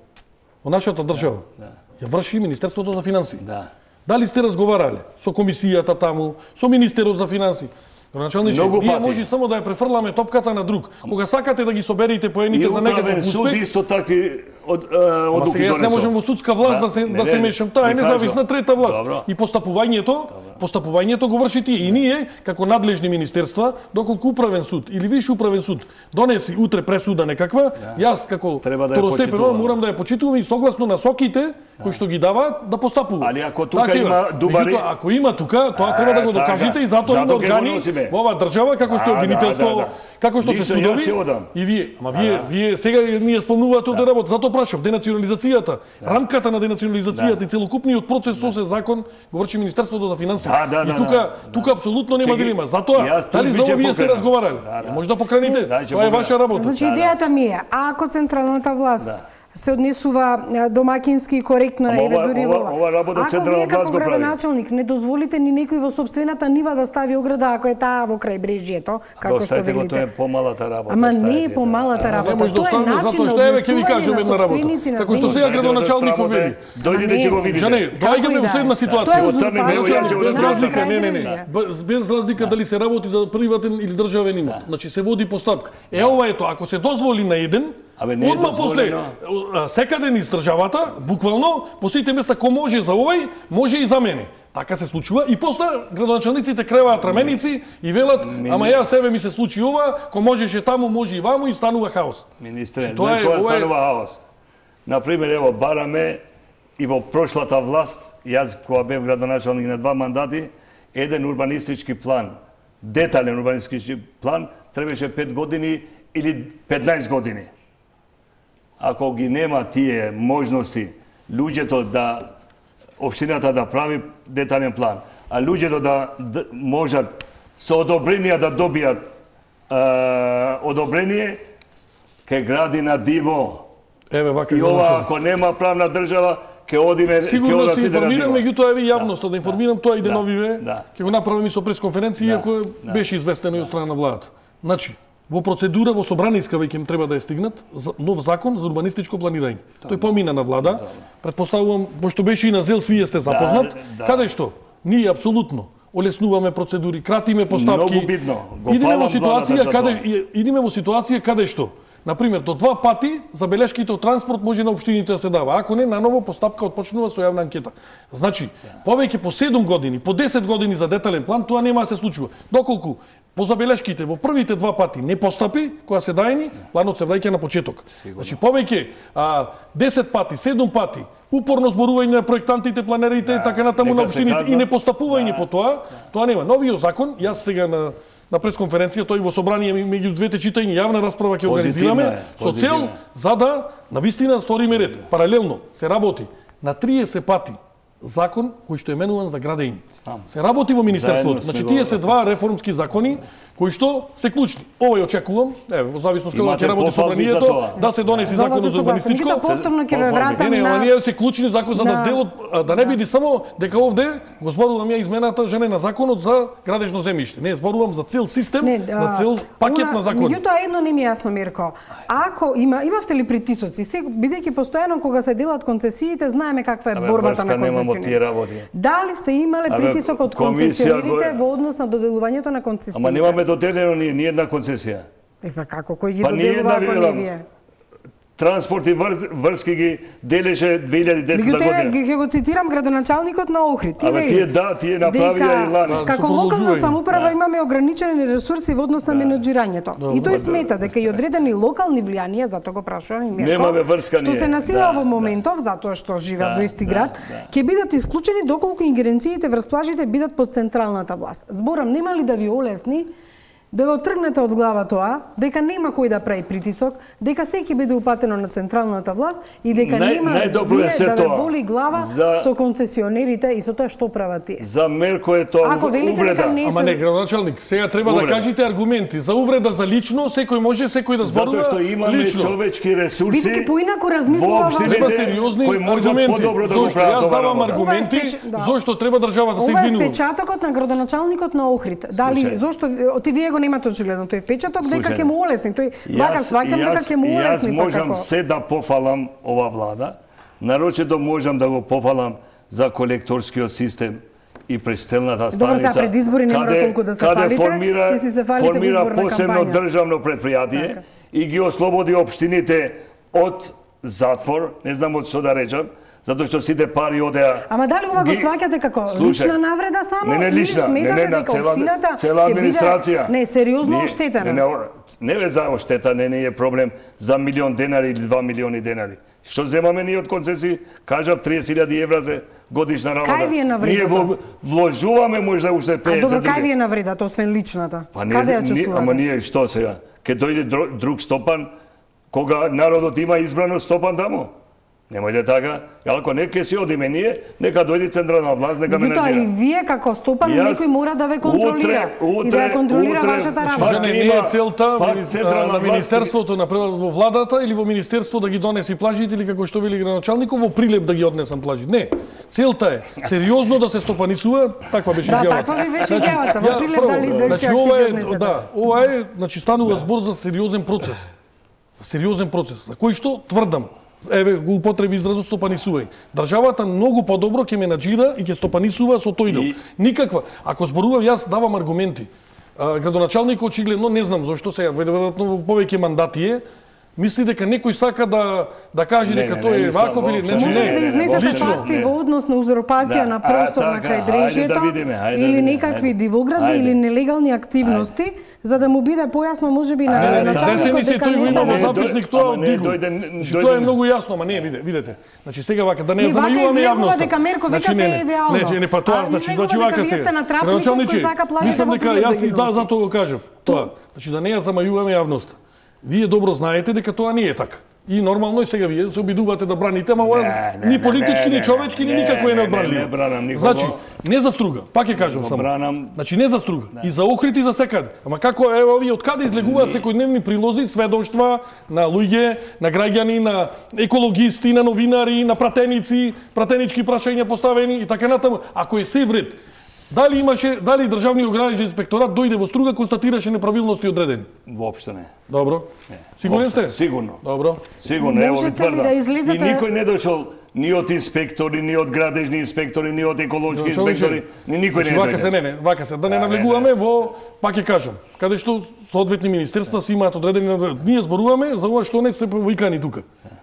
во нашата држава, да. Да. Ја врши Министерството за финансии. Да. Дали сте разговарале со комисијата таму, со министерот за финансии? Началниче, ние може само да ја префрламе топката на друг. Кога сакате да ги соберете поените за некако успех, суд исто такви од одлуки донесува. Јас не можам во судска власт да се да се мешам, таа е независна трета власт. И постапувањето, постапувањето го врши тие и ние како надлежни министерства, доколку управен суд или виш управен суд донеси утре пресуда некаква, јас како второстепено морам да ја почитувам и согласно насоките кои што ги даваат да постапува. Али ако тука има дубари, ако има тука, тоа треба да го докажете и затоа има органи во оваа држава како што е обвинителство, како што се судови. И вие, ама вие вие сега ние спомнувате овде работа, затоа прашав денационализацијата, рамката на денационализацијата и целокупниот процес со се закон го врши Министерството за финансии. И тука тука апсолутно нема дилема. Затоа дали за ова вие сте разговарали? Може да покрените. Тоа е ваша работа. Значи идејата ми е, ако централната власт се однесува домакински и коректно, еве дури во ова. Ако вие како градоначалник не дозволите ни некој во собствената нива да стави ограда, ако е таа во крајбрежјето, како што велите. Тоа е помалата работа. Ама не е помалата работа. Тоа е начин на однесување ќе ви кажам една работа. Како што сега градоначалникот вели. Дојдете ќе го видите. Не, доаѓаме во следна ситуација. Без разлика, не, не, не. Без разлика дали се работи за приватен или државен имот. Значи се води постапка. Е ова ето, ако се дозволи на еден, одма после секаде низ државата, буквално, по сите места кој може за овој, може и за мене. Така се случува и после градоначалниците креваат раменици и велат, ама ја себе ми се случи ова, кој можеше таму, може и ваму и станува хаос. Министре, знаеш кога станува хаос? Например, ево, бараме и во прошлата власт, јас кога бев градоначалник на два мандати, еден урбанистички план, детален урбанистички план, требаше пет години или петнаесет години. Ако ги нема тие можности луѓето да општината да прави детален план, а луѓето да, да можат со одобрение да добијат е, одобрение, ке гради на диво. Еве вака и ова ако нема правна држава, ке одиме сигурно се информирам, меѓутоа еве јавноста да, да информирам, да, тоа и деновиве, да, ќе го направам и со пресконференција, да, иако да, беше известено и од страна на владата. Значи, во процедура во собраниска веќе им треба да е стигнат нов закон за урбанистичко планирање. Да, тој помина на влада. Да, предпоставувам, пошто беше и на ЗЕЛ, вие сте запознат, да, да, каде што ние апсолутно олеснуваме процедури, кратиме постапки. Многу бидно. Го идеме во ситуација каде идеме во ситуација каде што например, до два пати забелешките од транспорт може на општините да се дава. Ако не, наново постапка отпочнува со јавна анкета. Значи, повеќе по седум години, по десет години за детален план, тоа нема да се случува. Доколку по забелешките во првите два пати не постапи, која се даени, планот се враќа на почеток. Сигурно. Значи, повеќе а, десет пати, седум пати, упорно зборување на проектантите, планерите, да, така натаму на општините и не постапување да, по тоа, тоа нема. Новиот закон, јас сега на на пресконференција, тој во собрание меѓу двете читања јавна расправа ќе организираме со цел за да навистина сториме ред. Паралелно се работи на триесет пати закон кој што е менуван за градење. Се работи во министерството. Значи тие се два реформски закони кои што се клучни. Овој очекувам, еве во зависност како ќе работи собранието, да се донеси законот за урбанистичко. Повторно ќе ве вратам на не, не, се клучни закон за да делот да не биде само дека овде го зборувам ја измената жене на законот за градежно земјиште. Не, зборувам за цел систем, не, на цел пакет на закони. Меѓутоа едно не ми е јасно, Мирко. Ако има имавте ли притисоци, се бидејќи постојано кога се делат концесиите, знаеме каква е борбата на концесионерите. Дали сте имале притисок од концесионерите во однос на доделувањето на концесиите? Ама немаме доделено ни, ни една концесија. Е, па како, кој ги па доделува ако не вие? Транспорт и вр, врски ги делеше две илјади и десета година. Ќе го цитирам градоначалникот на Охрид. Абе тие да, тие направија и лани. Како локална самоуправа да, имаме ограничени ресурси во однос на да, менеджирањето. Да, и тој да, смета дека и одредени локални влијанија, затоа го прашувам и Мирко, немаме врска што се насила да, во моментов, да, затоа што живеат да, во исти град, ќе да, бидат исклучени доколку ингеренциите врз плажите бидат под централната власт. Зборам, нема ли да ви олесни да го тргнете од глава тоа, дека нема кој да прави притисок, дека секи биде упатено на централната власт и дека Нај, нема вие да ве боли глава за... со концесионерите и со тоа што прават тие. За Мерко е тоа увреда. Не Ама не, градоначалник, сега треба увреда. Да кажете аргументи. За увреда за лично, секој може секој да зборува затоа што имаме лично. Човечки ресурси. Бидејќи поинаку размислува треба сериозни аргументи. Да зошто јас давам аргументи, зошто треба државата се извинува. Ова е впечатокот на градоначалникот на Охрид. Дали зошто ти вие го немате очигледно тој впечаток дека ќе му олесни, тој вака сваќам дека ќе му олесни. Јас можам се да пофалам ова влада, нарочито можам да го пофалам за колекторскиот систем и претстелната станица. Добро, пред избори не мора толку да се фалите, формира, се фалите формира посебно државно предпријатие и ги ослободи општините од затвор, не знам од што да речам, затоа што сите пари одеа. Ама дали ова го ги- сваќате како Слушај, лична навреда само? Не, не или лична, не, сметате не, на дека цела, општината цела ќе биде- администрација. Не, сериозно Ние- оштетена. Не, не, не ве за оштета, не, не е проблем за милион денари или два милиони денари. Што земаме ние од концесии? Кажав триесет илјади евра за годишна работа. Кај ви е навредата? Ние во- вложуваме можда уште А петдесет добро, кај други. ви е навредата, освен личната? Па Каде ја ние, чувствувате? ама ние што сега? Ке дојде друг, друг стопан, кога народот има избрано стопан таму? Немојте така. Ако не ке си одиме ние, нека дојде централна власт, нека ме Меѓутоа и наџира. вие како стопан Јас- некој мора да ве контролира утре- и да ја контролира утре- вашата Пак работа. Жене, не има- е целта пак мини- централна на власт- Министерството на превод во владата или во Министерство да ги донеси плажите или како што вели градоначалников во Прилеп да ги однесам плажи. Не. Целта е сериозно да се стопанисува, таква беше Да, изјавата. таква ви беше изјавата. Во ја, Прилеп прво, дали дојдете значи ќе ова ги е однесете? да, ова е, значи станува збор за сериозен процес. Сериозен процес, за кој што тврдам, еве го употреби изразот стопанисувај. Државата многу подобро ќе ме наџира и ќе стопанисува со тој дел. И- Никаква. Ако зборувам, јас давам аргументи. А, градоначалникот очигледно не знам зошто сега, веројатно во повеќе мандати е, мисли дека некој сака да да каже Не, дека не, тој не е мислам ваков или воопшто. не. Може ли да не, изнесете лично. факти Не. во однос на узурпација Да. на А, простор на така, крајбрежјето ајде да видиме, ајде да или видиме, некакви ајде. дивоградби Ајде. или нелегални активности, за да му биде појасно можеби на Не, не, не, началникот десени се дека тој го не има во се зап- записник дојде- тоа ама од не, Дигу. дојде- Значи дојде- тоа е многу јасно, ама не, виде, видете. Значи сега вака да не ја Не, вака замајуваме излегува јавноста. дека Мерко вика не, се не, е идеално. Не, не, па тоа А значи излегува значи дека вака вие се. сте натрапникот Градоначалниче, кој сака плажите мислам во дека Прилеп да јас ги и да носи. затоа го кажав. Тоа, значи да не ја замајуваме јавноста. Вие добро знаете дека тоа не е така. И нормално и сега вие се обидувате да браните, ама ова Не, не, ни не, политички, не, ни не, човечки, ни не, никако е не, не, неодбранливо. не бранам никого. Значи, не за струга, пак ќе кажам го само. бранам. Значи не за струга, и за Охрид и за секаде. Ама како ево овие од каде излегуваат секојдневни прилози, сведоштва на луѓе, на граѓани, на екологисти, на новинари, на пратеници, пратенички прашања поставени и така натаму. Ако е се вред, дали имаше, дали државниот граничен инспекторат дојде во струга, констатираше неправилности одредени? Воопшто не. Добро. Сигурен Воопшто, сте? Сигурно. Добро. Сигурно, ево ви Можете ли тврдам. да излезете- И никој не дошол ни од инспектори, ни од градежни инспектори, ни од еколошки инспектори, ни никој Значи, не вака се дојде. не, не, вака се, да не Да, навлегуваме во, пак ќе кажам, каде што соодветни министерства си имаат одредени надвор- Ние зборуваме за ова што не се повикани тука.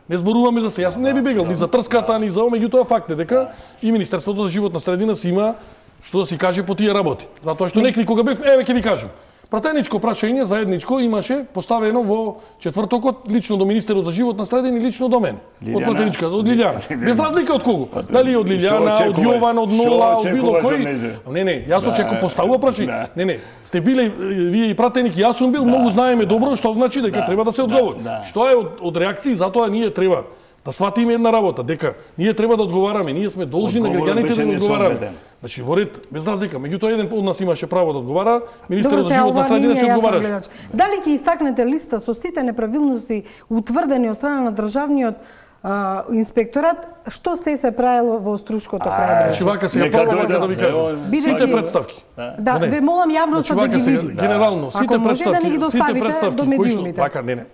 Не зборуваме за се. Јас не би бегал ни за трската, ни за ова, меѓутоа факт е дека и Министерството за животна средина си има што да си каже по тие работи. Затоа што некој кога бев, еве ќе ви кажам. Пратеничко прашање заедничко имаше поставено во четвртокот лично до министерот за животна средина и лично до мене. Од Лилјана? пратеничка, од Лилјана. Без разлика од кого. Дали од Што Лилјана, од очекуваш? Јован, од Што Нола, од било очекуваш од кој. нејзе? Не, не, јас очекувам поставува прашање. Да. Не, не, сте биле вие и пратеник, јас сум бил, многу знаеме добро што значи дека Да, треба да се да, одговори. да. Што е од, од реакции, затоа ние треба да сватиме една работа, дека ние треба да одговараме, ние сме должни на Одговорот граѓаните беше да одговараме. несоодветен. Значи во ред, без разлика, меѓутоа еден од нас имаше право да одговара, министерот за сега, животна ова средина не се ми е јасно, одговараше. гледач. Дали ќе истакнете листа со сите неправилности утврдени од страна на државниот а, инспекторат, што се се правело во Струшкото Значи крајбрежје? вака сега Нека прво дојде, вака да ви ево, кажам. Бидејќи- Сите представки. Да, Не, не. ве молам јавноста Значи да вака ги сега види. генерално сите Ако може представки, да ни ги сите доставите представки до кои што медиумите. вака не не.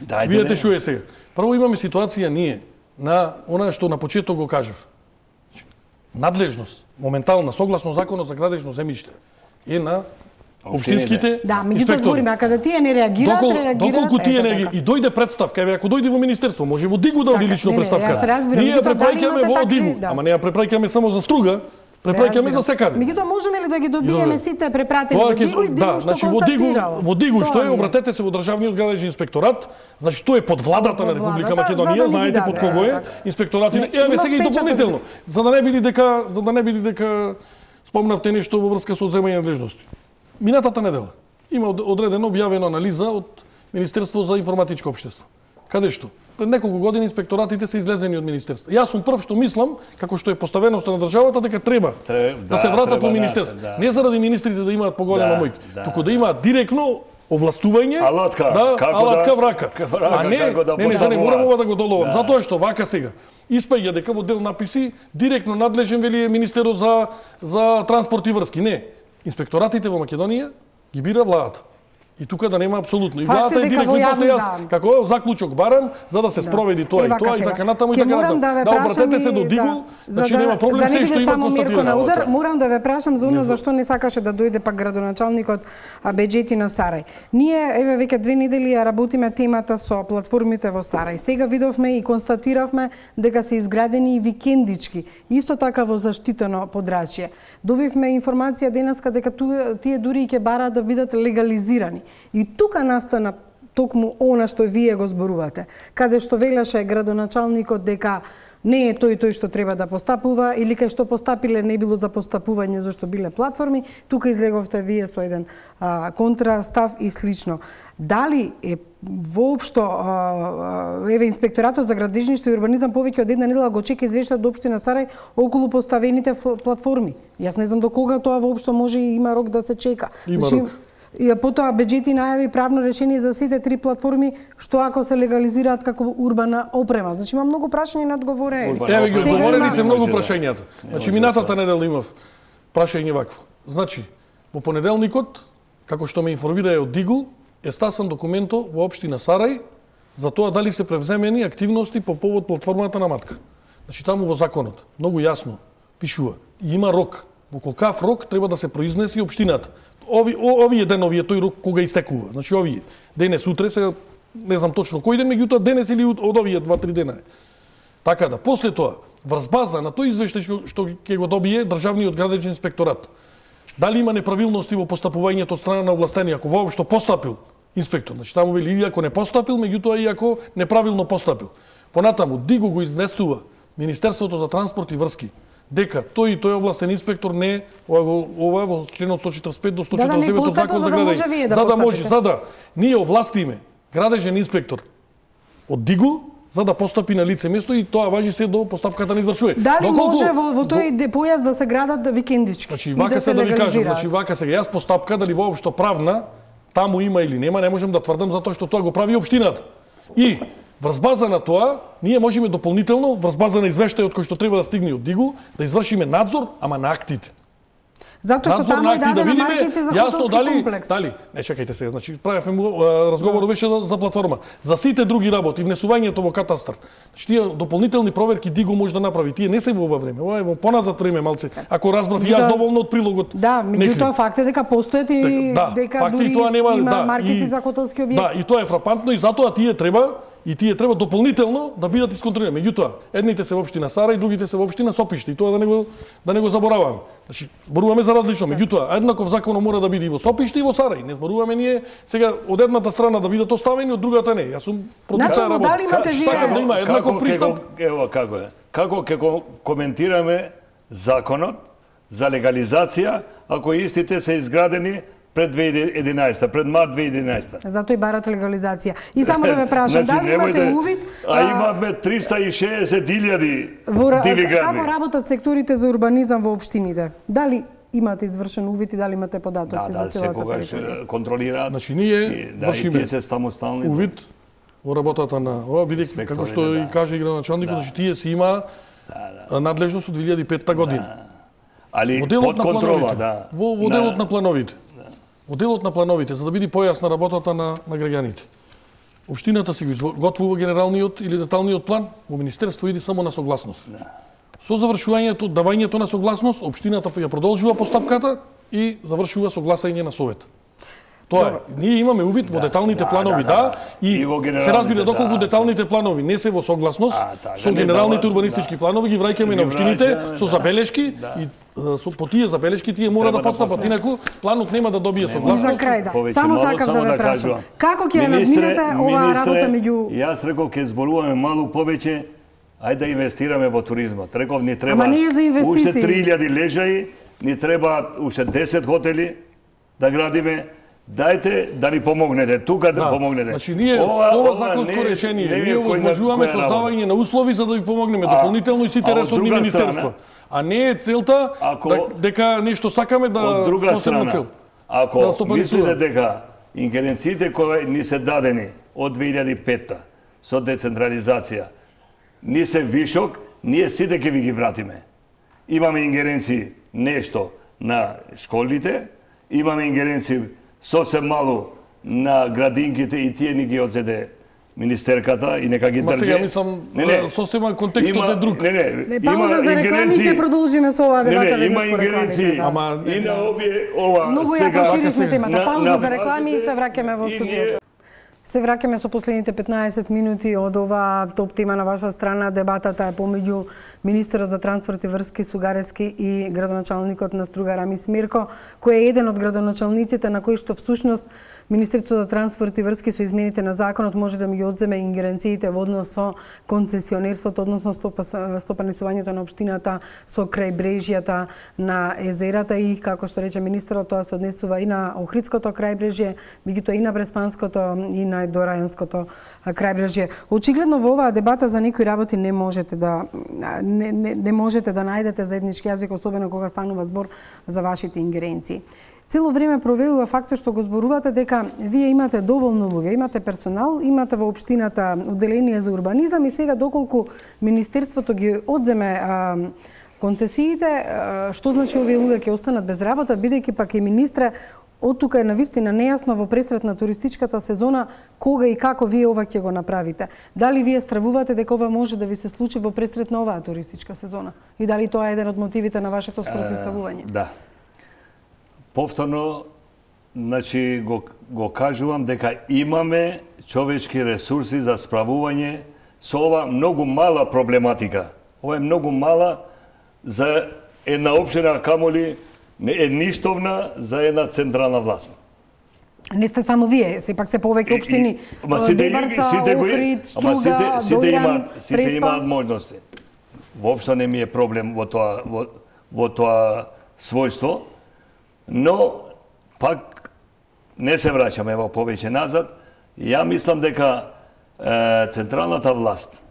Дајде, Видете не. што е сега. Прво имаме ситуација ние на она што на почеток го кажав. Надлежност, моментална, согласно законот за градежно земјиште, е на општинските Да, меѓутоа инспектори. збориме, а каде тие не реагираат, Докол, реагираат. доколку тие ето не така. ги и дојде представка, еве ако дојде во министерство, може во Дигу да оди Така, лично не, не, представка. јас разбирам, Ние ја меѓутоа, дали препраќаме имате во такви- Дигу, да. ама не ја препраќаме само за Струга, препраќаме Разбирам. за секаде. Меѓутоа можеме ли да ги добиеме Добре. сите препратени Тоа во ќе Дигу и Дигу да, што значи во Дигу, констатирало? во Дигу што Тоа е, ми обратете се во државниот градежен инспекторат, значи тоа е под владата на Под Република владата, за Македонија, да ни ги знаете даде, под кого е така. инспекторат. Не, Еве има сега и печаток. дополнително, за да не биде дека за да не биде дека спомнавте нешто во врска со одземање на надлежности. Минатата недела има од- одредено објавена анализа од Министерство за информатичко општество. Каде што пред неколку години инспекторатите се излезени од министерство. Јас сум прв што мислам, како што е поставеноста на државата, дека треба Треб- да, да, се вратат треба во да министерство. се, да. Не заради министрите да имаат поголема Да, моќ, да. туку да имаат директно овластување, Алатка, да, како алатка да- врака. како врака, а не, како да не, не, да не поставуваат. морам ова да го доловам, Да. затоа што вака сега испаѓа дека во дел написи директно надлежен вели е министерот за за транспорт и врски. Не, инспекторатите во Македонија ги бира владата. И тука да нема апсолутно. И Факт е владата е дека во директно јавни, после јас да. како заклучок барам за да се спроведи тоа Ева, и тоа и сега. така натаму и Ќе така морам натаму. да ве Да прашам обратете и- се до Дигу, да, значи за да- нема проблем, да не се биде што има само Мирко на констатирано. удар, Да. морам да ве прашам за оно зашто не сакаше да дојде пак градоначалникот Беџети на Сарај. Ние еве веќе две недели ја работиме темата со платформите во Сарај. Сега видовме и констатиравме дека се изградени и викендички, исто така во заштитено подрачје. Добивме информација денеска дека ту- тие дури и ќе бараат да бидат легализирани. И тука настана токму она што вие го зборувате, каде што велеше градоначалникот дека не е тој тој што треба да постапува или кај што постапиле не било за постапување зашто биле платформи, тука излеговте вие со еден а, контрастав и слично. Дали е воопшто а, еве инспекторатот за градежништво и урбанизам повеќе од една недела го чека извештај од општина Сарај околу поставените платформи? Јас не знам до кога тоа воопшто може и има рок да се чека. Има рок. И потоа Беџети најави правно решение за сите три платформи што ако се легализираат како урбана опрема. Значи има многу прашања на одговорени. Урбана Еве ги Сега одговорени има- се многу Може да. прашањата. Значи може да минатата се- недела имав прашање вакво. Значи во понеделникот, како што ме информира од Дигу, е стасан документо во општина Сарај за тоа дали се превземени активности по повод платформата на Матка. Значи таму во законот многу јасно пишува и има рок. Во колкав рок треба да се произнесе и општината. Ови о, овие денови е тој рок кога истекува. Значи овие денес утре се не знам точно кој ден, меѓутоа денес или од од овие два-три дена. е. Така да после тоа врз база на тој извештај што, што ќе го добие државниот градежен инспекторат. Дали има неправилности во постапувањето од страна на овластени, ако воопшто постапил инспектор, значи таму вели или ако не постапил, меѓутоа и ако неправилно постапил. Понатаму Дигу го известува Министерството за транспорт и врски дека тој и тој овластен инспектор не ова го ова во членот сто четиридесет и пет до сто Да, да, не четиридесет и девет од постапил, закон за за да може градење. вие да За да може, постапите. за да ние овластиме градежен инспектор од Дигу за да постапи на лице место и тоа важи се до постапката на извршување. Дали Доколку- може во, во тој де- појас да се градат викендички? Значи, и вака да се да ви кажам, легализираат? значи вака сега јас постапка дали воопшто правна таму има или нема, не можам да тврдам затоа што тоа го прави општината. И врз база на тоа, ние можеме дополнително врз база на извештајот кој што треба да стигне од Дигу, да извршиме надзор, ама на актите. Затоа што Надзор таму на е акти да дадена видиме маркица за јасно хотелски дали комплекс. дали не чекајте се, значи правевме му а, разговорот беше за, за платформа. За сите други работи, внесувањето во катастар. Значи тие дополнителни проверки Дигу може да направи. Тие не се во ова време, ова е во поназад време малце. Ако разбрав и јас Да. доволно од прилогот. Да, меѓутоа факт е дека постојат и Да, дека факти дури и тоа нема има да, маркици и- за хотелски објекти. Да, и тоа е фрапантно и затоа тие треба и тие треба дополнително да бидат исконтролирани. Меѓутоа, едните се во општина Сарај, другите се во општина Сопиште и тоа да не го да не го забораваме. Значи, зборуваме за различно, меѓутоа еднаков законот мора да биде и во Сопиште и во Сарај. Не зборуваме ние сега од едната страна да бидат оставени, од другата не. Јас сум против Начелно, таа работа. дали имате Ка- вие- Сакам да има еднаков Како ќе пристап. го- Ево како е. Како ќе го коментираме законот за легализација ако истите се изградени пред две илјади и единаесета, пред март две илјади и единаесета? Затоа и барат легализација. И само да ве прашам, дали имате немојте- увид А имаме триста и шеесет илјади во ра- диви како градби. работат секторите за урбанизам во општините? Дали имате извршен увид и дали имате Да, податоци за да, целата секогаш територија? е, контролираат. Значи, ние И, да, вршиме и тие се самостални. увид во работата на ова, бидејќи Инспектори, како што да. и каже и градоначалникот, значи тие си има надлежност од две илјади и петта година. Али Во делот под на контрола, плановите. да. Во, во делот на плановите. Во делот на плановите, за да биде појасна работата на, на граѓаните. Општината си го изготвува генералниот или деталниот план, во министерство иде само на согласност. Со завршувањето, давањето на согласност, општината ја продолжува постапката и завршува согласање на совет. Тоа е. Ние имаме увид во деталните да, планови, да, да, да, да. и, И во се генералните, разбира доколку да, деталните планови не се во согласност А, така, со не генералните дават, урбанистички да. планови, ги враќаме на Ги општините враќаме, со да. забелешки Да. и а, со, по тие забелешки тие мора Треба да да постапат, постапат. инаку планот нема да добие И за согласност. крај, да. Повеќе Само мало, сакав само да ве да прашам. кажувам. Како ќе ја надминете оваа работа меѓу... Јас реков ќе зборуваме малку повеќе, ајде да инвестираме во туризмот. Реков ни треба Ама не е за инвестиции. уште три илјади лежаи, ни треба уште десет хотели да градиме. Дајте да ни помогнете, тука да, Да, помогнете. значи ние со ова законско решение, ние возможуваме создавање на услови за да ви помогнеме А- дополнително и сите а од ресорни друга министерства. страна, А не е целта ако- да, дека нешто сакаме да Од друга посебна страна, цел. ако Да стопанисува. мислите дека ингеренциите кои ни се дадени од две илјади и петта со децентрализација ни се вишок, ние сите ќе ви ги вратиме. Имаме ингеренции нешто на школите, имаме ингеренции сосем малу на градинките и тие ни ги одзеде министерката и нека ги Ма држи. сега мислам, сосема контекстот е друг. Не, не, Не, има пауза за рекламите, ингеренции. продолжиме со оваа дебата. Не, не, има веднаш по ингеренции. рекламите, да. Ама И на овие, ова Многу ја сега... поширишме темата. на- Пауза на за реклами и се враќаме во и студиото. ние- Се враќаме со последните петнаесет минути од оваа топ тема на ваша страна. Дебатата е помеѓу министерот за транспорт и врски Сугарески и градоначалникот на Струга Рамис Мирко, кој е еден од градоначалниците на кој што всушност Министерството за транспорт и врски со измените на законот може да ми ги одземе ингеренциите во однос со концесионерството, односно стопа, стопанисувањето на општината со крајбрежјата на езерата и, како што рече министерот, тоа се однесува и на Охридското крајбрежје, меѓутоа и на Бреспанското и на Дорајанското крајбрежје. Очигледно во оваа дебата за некои работи не можете да не, не, не можете да најдете заеднички јазик, особено кога станува збор за вашите ингеренции. Цело време провелува фактот што го зборувате дека вие имате доволно луѓе, имате персонал, имате во општината одделение за урбанизам и сега доколку министерството ги одземе а, концесиите, а, што значи овие луѓе ќе останат без работа, бидејќи пак и министре од тука е навистина нејасно во пресрет на туристичката сезона кога и како вие ова ќе го направите. Дали вие стравувате дека ова може да ви се случи во пресрет на оваа туристичка сезона? И дали тоа е еден од мотивите на вашето спротивставување? Да. Повторно, значи, го, го кажувам дека имаме човечки ресурси за справување со ова многу мала проблематика. Ова е многу мала за една општина, камоли е ништовна за една централна власт. Не сте само вие, сепак се повеќе општини. Ама сите, Дебарца, сите, го, Охрид, ама сите, Струга, сите Дојран, имаат, сите Преспа. имаат можности. Воопшто не ми е проблем во тоа во, во тоа својство, но пак не се враќаме во повеќе назад. Ја мислам дека е, централната власт,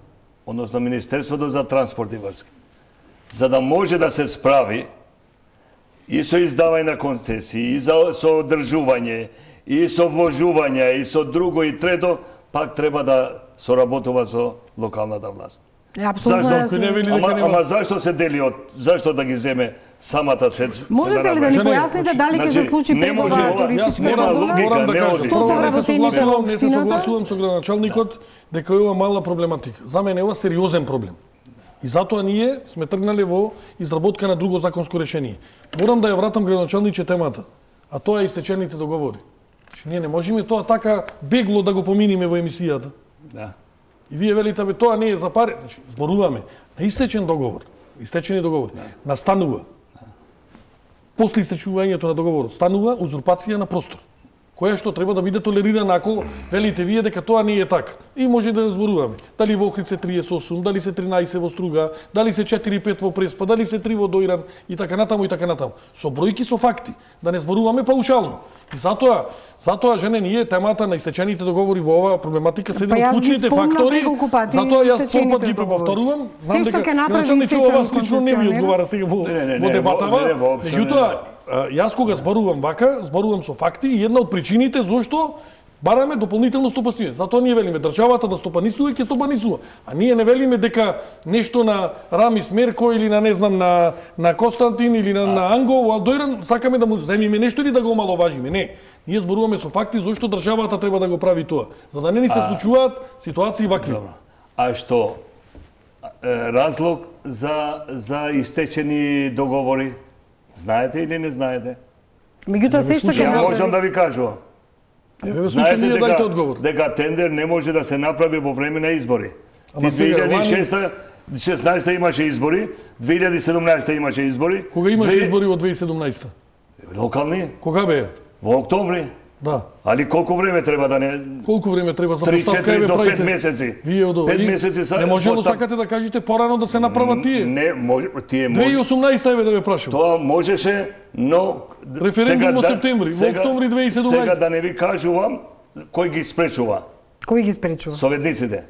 односно Министерството за транспорт и врски, за да може да се справи и со издавање на концесии, и за, со одржување, и со вложување, и со друго и трето, пак треба да соработува со локалната власт. Е, апсолутно Зашто? јасно. Ама, ама зашто се дели од зашто да ги земе самата се? Можете ли да ни Значи, појасните дали ќе се случи не пред може оваа ова, туристичка нема сезона? логика, Морам да не кажам, оди. Што се прво, не се вработените во согласувам, не се општината? согласувам со градоначалникот дека е ова мала проблематика. За мене е ова сериозен проблем. И затоа ние сме тргнале во изработка на друго законско решение. Морам да ја вратам градоначалниче темата, а тоа е истечените договори. Значи, ние не можеме тоа така бегло да го поминиме во емисијата. Да. И вие велите, бе, тоа не е за пари. Значи, зборуваме на истечен договор, истечени договори, да. Настанува. Да. После истечувањето на договорот станува узурпација на простор, која што треба да биде толерирана ако велите вие дека тоа не е така. И може да зборуваме. Дали во Охрид се триесет и осум, дали се тринаесет во Струга, дали се четири и пет во Преспа, дали се три во Дојран и така натаму и така натаму. Со бројки, со факти, да не зборуваме паушално. И затоа, затоа жене ние темата на истечените договори во оваа проблематика се еден Па јас од ги клучните спомнав фактори. неколку пати Затоа јас истечените полпат ги договори. преповторувам. Се што ќе направи началниче истечен ова слично не ви концесионер? одговара сега во, Не, не, не, во не, дебатава. во- не, воопшто не, Меѓутоа, а, јас кога зборувам вака, зборувам со факти и една од причините зошто бараме дополнително стопанисување. Затоа ние велиме државата да стопанисува, ќе стопанисува. А ние не велиме дека нешто на Рамис Мерко или на не знам на на Константин или на, на Анго, а Дојран сакаме да му земиме нешто или да го омаловажиме. Не. Ние зборуваме со факти зошто државата треба да го прави тоа, за да не ни се случуваат ситуации вакви. Добро. А што е, разлог за за истечени договори? Знаете или не знаете? Меѓутоа се што ќе Ја можам направи. да ви кажувам. Еве слушам Знаете ние дајте дека, одговор. дека тендер не може да се направи во време на избори. Ама Ти сега, две илјади и шеста шеснаесета имаше избори, две илјади и седумнаесета имаше избори. Кога имаше две- избори во две илјади и седумнаесета? Локални? Кога беа? Во октомври. Да. Али колку време треба да не... Колку време треба за три, поставка? четири Еве до правите. пет месеци. Вие од Пет и- месеци са- Не може да постав- сакате да кажете порано да се направат тие. Не, може, тие две илјади и може... осумнаесета еве да ве прашам. Тоа можеше, но... Референдум сега во да- септември, во сега- октомври две илјади и седумнаесета. Сега да не ви кажувам, кој ги спречува? Кој ги спречува? Советниците.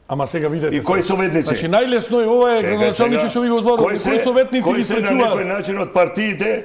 Ама сега видете. И кои сега. советници? Значи најлесно е ова е Чекај, градоначалниче сега, што ви го зборувам. кои се- Кои советници кои ги се на некој спречуваат? начин од партиите?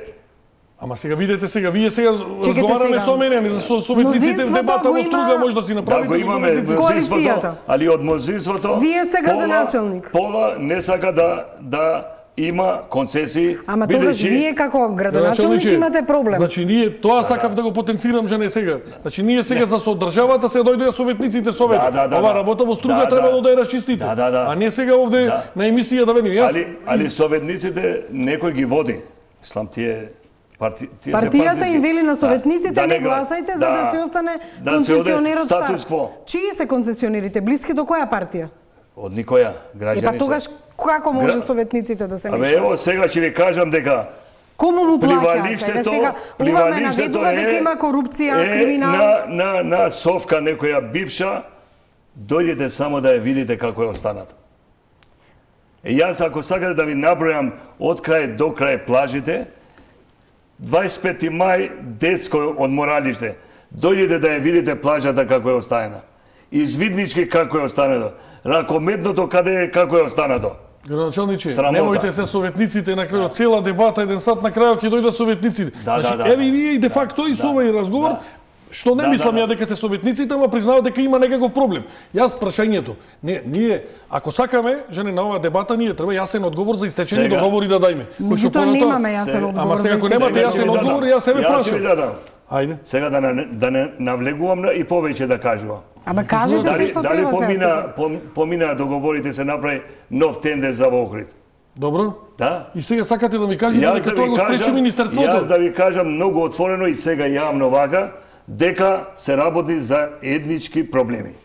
Ама сега видете сега, вие сега разговараме сега. со мене, а не за со советниците в Мнозинството дебата го во има- Струга може да си Да, направите. го со имаме советниците. Коалицијата. мнозинството, али од мнозинството... Вие сте пола- градоначалник. Пола не сака да, да има концесии. Ама тогаш вие како градоначалник имате проблем. Значи ние тоа сакав да го потенцирам жене сега. Значи ние сега за содржавата се дојдоа советниците совет. Ова работа во струга требало да ја расчистите. А не сега овде на емисија да вени. Али али советниците некој ги води. Ислам тие Парти, Партијата им вели на советниците да, да не гласајте за да, да се остане да концесионерот статус кво. Чии се концесионерите? Блиски до која партија? Од никоја, граѓани. Е па тогаш како може Гра... советниците да се мешаат? Абе ево сега ќе ви кажам дека кому му плаќаат? Сега пливалиштето е дека има корупција, е, криминал. На на на совка некоја бивша, дојдете само да ја видите како е останато. Е јас ако сакате да ви набројам од крај до крај плажите, дваесет и пети мај детско одморалиште. Дојдете да ја видите плажата како е оставена. Извиднички како е останато. Ракометното каде е како е останато. Градоначалниче, немојте се советниците на крајот, цела дебата еден сат на крајот ќе дојдат советниците. Да, значи, да, да, еве и вие и де факто и со овој разговор, што не мислам ја дека се советниците, ама признавам дека има некаков проблем. Јас прашањето, не, ние ако сакаме жене на оваа дебата, ние треба јасен одговор за истечени сега договори да дајме. Кој што понатоа немаме јасен одговор. Ама сега ако немате јасен одговор, јас себе прашам. Ајде. Сега да не, да не навлегувам и повеќе да кажувам. Ама кажете дали, што дали треба помина, пом, помина договорите се направи нов тендер за Охрид. Добро. Да. И сега сакате да ми кажете дека тоа го спречи министерството? Јас да ви кажам многу отворено и сега јавно вака, дека се работи за етнички проблеми.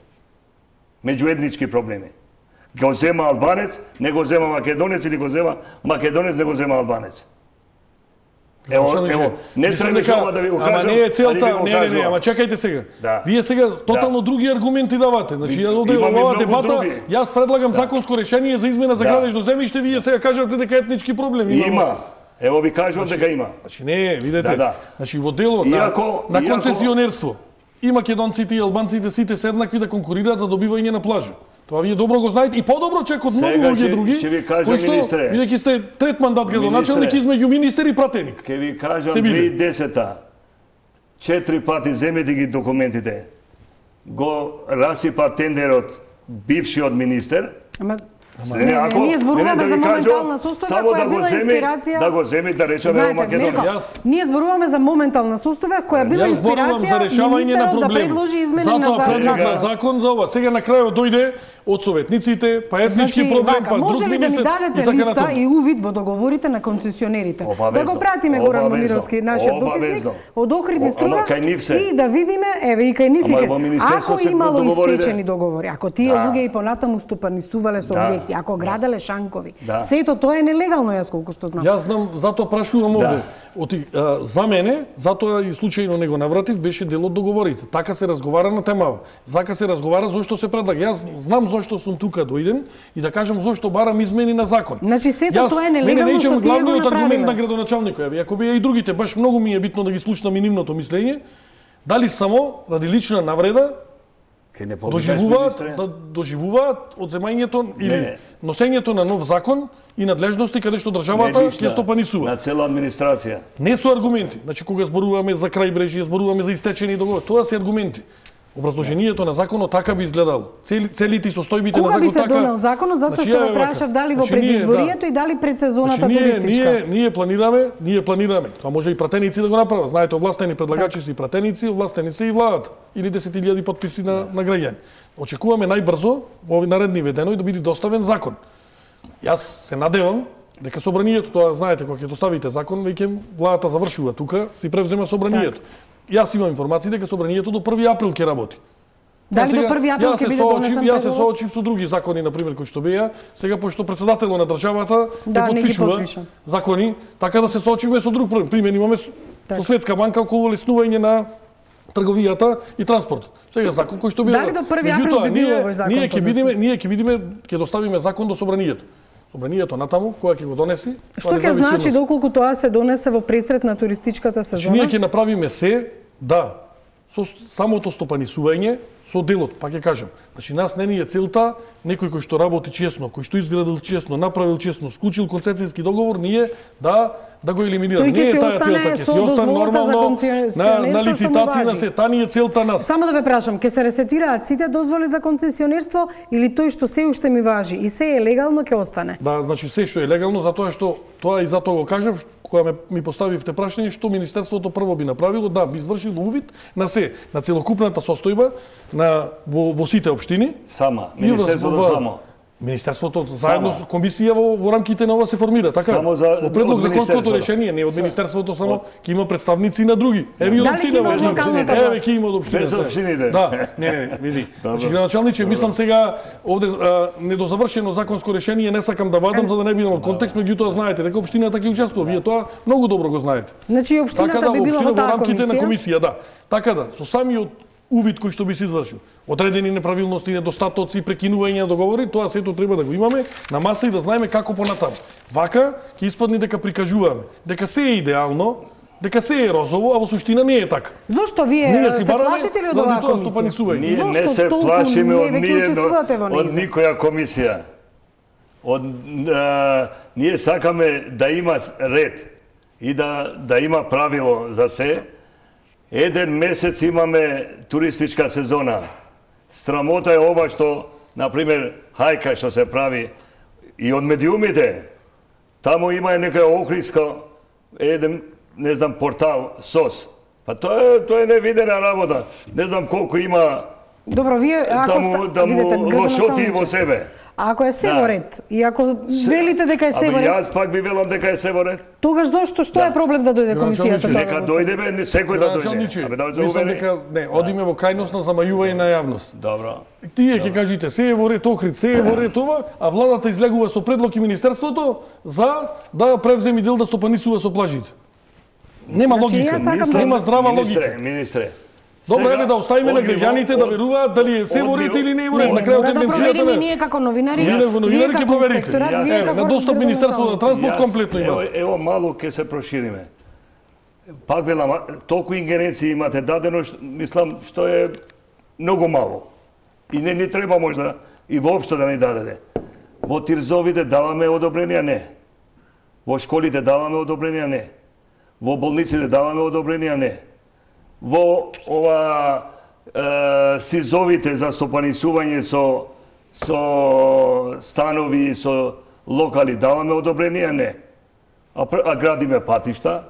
Меѓуетнички проблеми. Го зема албанец, не го зема македонец или го зема македонец, не го зема албанец. Ево, ево, не требаше ова да ви го кажам. Ама не е целта, не, не, не, ама чекајте сега. Да. Вие сега тотално да. други аргументи давате. Значи, ја овде оваа дебата, други. Јас предлагам да. законско решение за измена за да. градежно земјиште, вие сега кажавте дека етнички проблеми има. Има. Ево ви кажувам значи, дека има. Значи не, видете. Да, да. Значи во дело иако, на, на концесионерство и македонците и албанците сите се еднакви да конкурираат за добивање на плажа. Тоа вие добро го знаете и подобро чек од многу луѓе други. Ќе ви кажам, министре. Бидејќи сте трет мандат градоначалник измеѓу министер и пратеник. Ќе ви кажам две илјади и десета четири пати земете ги документите. Го расипа тендерот бившиот министер. Ама Не, не, ако, ние зборуваме не, да за моментална состојба која да била инспирација. Да го земи да речеме во Македонија. Ние зборуваме за моментална состојба која била инспирација министерот да предложи измени на закон. Затоа закон за ова. Сега на крајот дојде од советниците, па етнички значи, проблем, па друг министер. Може ли да ми дадете листа и увид во договорите на концесионерите? Да го пратиме Горан Момировски, нашиот дописник, од Охрид и Струга и да видиме, еве и кај нив ако имало истечени договори, ако тие луѓе и понатаму стопанисувале со објекти, ако граделе шанкови. Сето тоа е нелегално, јас колку што знам. Јас знам, затоа прашувам овде. Оти, а, за мене, затоа и случајно не го навратив, беше дел од договорите. Така се разговара на темава. Така се разговара зошто се предлага. Јас знам зошто сум тука дојден и да кажам зошто барам измени на закон. Значи сето тоа е нелегално што тие го направиле. Аргумент на градоначалникот, ја ако беа и другите, баш многу ми е битно да ги слушнам и нивното мислење, дали само ради лична навреда доживуваат, да доживуваат одземањето или носењето на нов закон и надлежности каде што државата ќе стопанисува. На цела администрација. Не со аргументи. Значи кога зборуваме за крајбрежје, зборуваме за истечени договори, тоа се аргументи. Образложението на законот така би изгледало. Цели, целите и состојбите на законот така. Кога би се донел законот, затоа значи, што го прашав дали во предизборието да. и дали пред сезоната значи, ние, туристичка. Ние, ние планираме, ние планираме. Тоа може и пратеници да го направат. Знаете, овластени предлагачи се и пратеници, овластени се и владата. Или десет илјади потписи на, на граѓани. Очекуваме најбрзо во овој наредни ведено и да биде доставен закон. Јас се надевам дека собранието, тоа знаете, кога ќе доставите закон, веќе владата завршува тука, си превзема собранието. Так. Јас имам информации дека собранието до први април ќе работи. Дали сега, до први април ќе биде донесен предлог? Јас се соочив со други закони, на пример, кои што беа, сега пошто председателот на државата да, не потпишува закони, така да се соочиме со друг проблем. Пример имаме так. со Светска банка околу леснување на трговијата и транспортот. Сега закон кој што беа. Дали до први април би бил овој закон? Ние ќе бидеме, ние ќе бидеме, ќе доставиме закон до собранието. Собранието натаму, која ќе го донеси. Што ќе значи доколку тоа се донесе во пресрет на туристичката сезона? Ние ќе направиме се, да, со самото стопанисување, со делот, па ќе кажам. Значи, нас не ни е целта, некој кој што работи честно, кој што изградил честно, направил честно, склучил концесијски договор, ние да да го елиминираме. Не е таа целта, ќе се остане нормално на, на лицитација на се, таа ни е целта нас. Само да ве прашам, ќе се ресетираат сите дозволи за концесионерство или тој што се уште ми важи и се е легално ќе остане? Да, значи се што е легално, затоа што тоа и затоа го кажав, кога ме, ми поставивте прашање што Министерството прво би направило, да, би извршило увид на се, на целокупната состојба на во, во сите општини. Сама, Министерството само. Министерството заедно со комисија во, во рамките на ова се формира, така? Само за во предлог законското решение, не од Министерството само, ќе има представници на други. Еве од општина, еве ќе има од општина. Без општините. Да, не, не, види. Значи градоначалниче, мислам сега овде а, недозавршено законско решение не сакам да вадам за да не бидам од контекст, меѓутоа знаете дека општината ќе учествува, вие тоа многу добро го знаете. Значи општината така, да, би била во таа рамките на комисија, да. Така да, со самиот увид кој што би се извршил, одредени неправилности, недостатоци, прекинување на договори, тоа сето треба да го имаме на маса и да знаеме како понатаму. Вака ќе испадне дека прикажуваме дека се е идеално, дека се е розово, а во суштина не е така. Зошто вие ние се плашите ли од оваа комисија? Ние не се плашиме од ниједно, од никоја комисија. Од а, ние сакаме да има ред и да да има правило за се. Еден месец имаме туристичка сезона. Срамота е ова што, например, хајка што се прави и од медиумите. Таму има некоја охриска, еден, не знам, портал, СОС. Па тоа е, тоа е невидена работа. Не знам колку има. Добро, вие ако таму, да му лошоти во себе. А ако е се во ред, и ако велите дека е се во ред... Абе, јас пак би велам дека е се во ред. Тогаш зошто, што да. е проблем да дојде комисијата? Нека дојде, бе, секој да дојде. Абе, да мислам дека, не, одиме во крајност на замајување на јавност. Добро. Тие ќе кажите, се е во ред Охрид, се е во ред ова, а владата излегува со предлог и Министерството за да превземи дел да стопанисува со плажите. Нема логика, нема здрава логика. Министре, добро, еве да оставиме на граѓаните да веруваат дали е се во ред или не е во ред. На крајот тенденцијата на ние како новинари, вие во новинари ќе проверите. На достап Министерство за транспорт комплетно има. Ево малку ќе се прошириме. Пак велам, толку ингеренции имате дадено, мислам што е многу мало. И не ни треба можда и воопшто да ни дадете. Во тирзовите даваме одобренија не. Во школите даваме одобренија не. Во болниците даваме одобренија не. Во ова е, сизовите за стопанисување со со станови, со локали даваме одобренија не. А, а градиме патишта,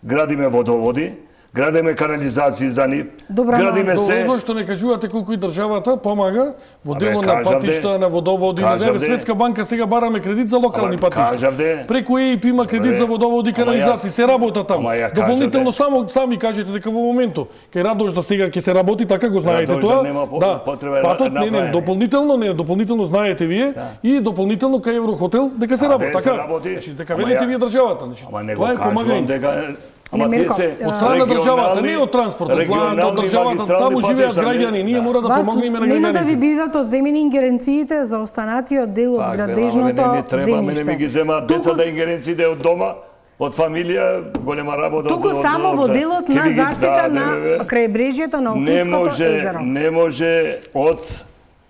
градиме водоводи, градиме канализации за нив, Добра, градиме се. Добро што не кажувате колку и државата помага во дело на патишта, на водоводи, на деве Светска банка сега бараме кредит за локални патишта. Преку ЕИП има кредит за водоводи и канализации, се работа таму. Дополнително само сами кажете дека во моментот кај Радош да сега ќе се работи, така го знаете тоа. Да, патот не, не, дополнително не, дополнително знаете вие и дополнително кај Еврохотел дека се работи, така. Значи дека велите вие државата, значи. Тоа е помагање. Ама те се од страна државата, не од транспортот, од државата, таму живеат граѓани, ние мора да помогнеме на граѓаните. Нема да ви бидат одземени ингеренциите за останатиот дел од градежното земјиште. Не ми ги земаат децата ингеренциите од дома, од фамилија, голема работа. Туку само во делот на заштита на крајбрежјето на Охридското езеро. Не може од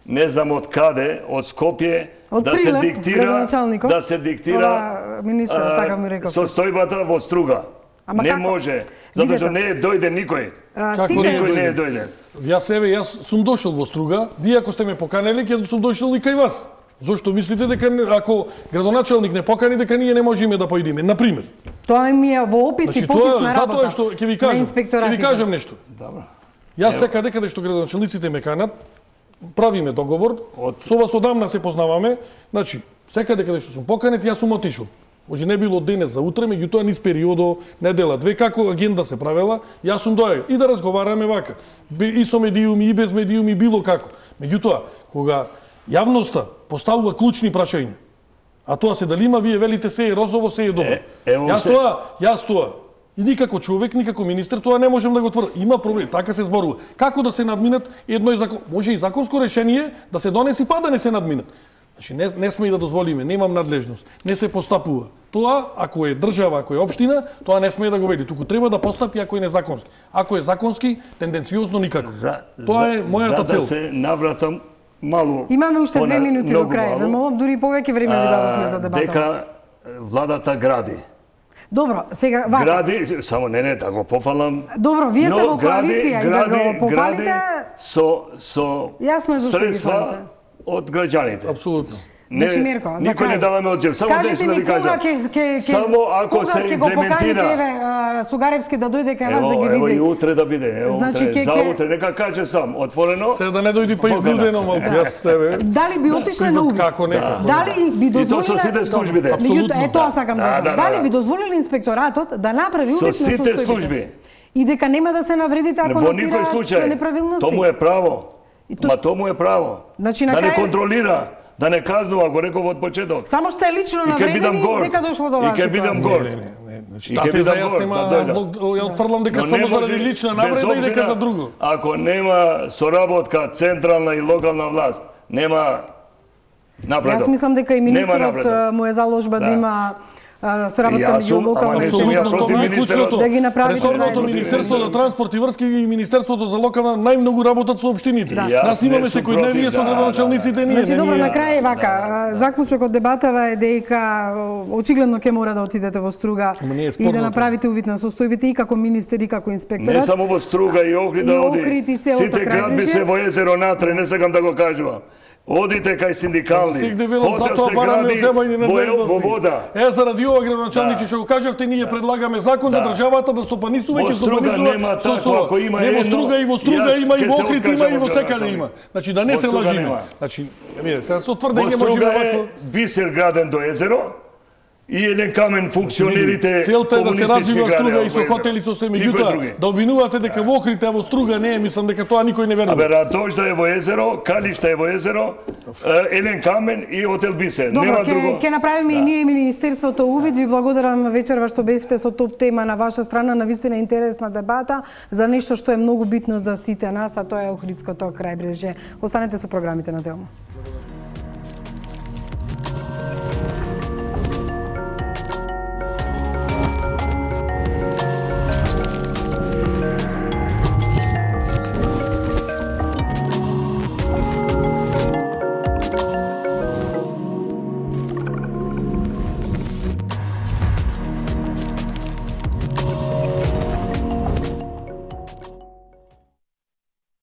не знам од каде, од Скопје да се диктира, да се диктира состојбата во Струга. Ама не како? Може, затоа што не е дојден никој. А, никој не е дојден. Јас еве, јас сум дошол во Струга, вие ако сте ме поканели, ќе сум дошол и кај вас. Зошто мислите дека ако градоначалник не покани, дека ние не можеме да поидиме, на пример? Тоа ми е во опис и попис на работа. Затоа што ќе ви кажам, ќе ви кажам нешто. Добро. Јас секаде каде што градоначалниците ме канат, правиме договор, со вас одамна се познаваме, значи секаде каде што сум поканет, јас сум отишол. Може не било денес за утре, меѓутоа низ периодо, недела, две, како агенда се правела, јас сум доаѓал и да разговараме вака. И со медиуми, и без медиуми, било како. Меѓутоа, кога јавноста поставува клучни прашања, а тоа се дали има, вие велите се е розово, се е добро. Е, јас се... тоа, јас тоа, и никако човек, никако министер, тоа не можем да го тврдам. Има проблем, така се зборува. Како да се надминат едно и закон... Може и законско решение да се донеси, па да не се надминат. Значи не не сме и да дозволиме, немам надлежност. Не се постапува. Тоа ако е држава, ако е општина, тоа не сме да го веди, туку треба да постапи ако е незаконски. Ако е законски, тенденциозно никако. За, тоа е мојата цел. За да се навратам малу. Имаме уште две минути до крај. Ве молам, дури повеќе време ви дадовме за дебата. Дека владата гради. Добро, сега вака. Гради, само не не да го пофалам. Добро, вие сте во коалиција и да го пофалите. Со со Јасно е зашто ги средства фалите. од граѓаните. Апсолутно. Не, значи, Мирко, никој не даваме од джеб. Само кажете ми да ви кажам. кога ќе ќе само ако кога се ќе го поканите имплементира. еве Сугаревски да дојде кај вас да ги види. Ево и утре да биде. Ево значи, утре, ке, за ке... утре нека каже сам, отворено. Се да не дојди па изнудено малку, јас себе. Дали би отишле на увид? Како нека? Дали би дозволиле? И тоа со сите службите. Апсолутно. Е тоа сакам да, да, знам. да, Дали да. би дозволиле инспекторатот да направи увид на Со сите состојбите? служби. И дека нема да се навредите ако Во никој нотираат случај. неправилности? Тоа му е право. то... Ма тоа му е право. Значи, да не крај... контролира, да не казнува, го реков од почеток. Само што е лично навредени дека дошло до вас. И ќе бидам гор. Не, не, не. Значи, и тате ќе за бидам јас гор. нема, Да ја отфрлам дека само заради лична навреда и дека за друго. Ако нема соработка централна и локална власт, нема напредок. Јас мислам дека и министерот му е заложба да, да има соработка меѓу локална и централна, да ги направите ресорното Министерство за транспорт и врски и Министерството за локална најмногу работат со општините. Да. Нас имаме секојдневие со градоначалниците ние. Значи добро, на крај вака, заклучок од дебатава е дека очигледно ќе мора да отидете во Струга и да направите увид на состојбите и како министер и како инспекторат. Не само во Струга и Охрид да оди. Сите градби се во езеро натре, не сакам да го кажувам. Одите кај синдикални, хотел се гради во, во вода. Е, заради ова градоначалниче што го кажавте, ние предлагаме закон за државата да стопанисува и ќе стопанисува со со. Ако има не во Струга и во Струга има и во Охрид има и во секаде има. Значи да не се лажиме. Значи, виде, сега со тврдење можеме вакво. Бисер граден до езеро. И еден камен функционерите целта е да се развива Струга и со хотели со се, меѓутоа да обвинувате дека во Охрид е во Струга не е, мислам дека тоа никој не верува. Абе, Радожда е во езеро, Калишта е во езеро, еден камен и хотел Бисер. Добро, нема ке, друго. Ке направиме да. И ние Министерството увид. Ви благодарам вечерва што бевте со топ тема на ваша страна, на вистина интересна дебата за нешто што е многу битно за сите нас, а тоа е Охридското крајбрежје. Останете со програмите на Телмо.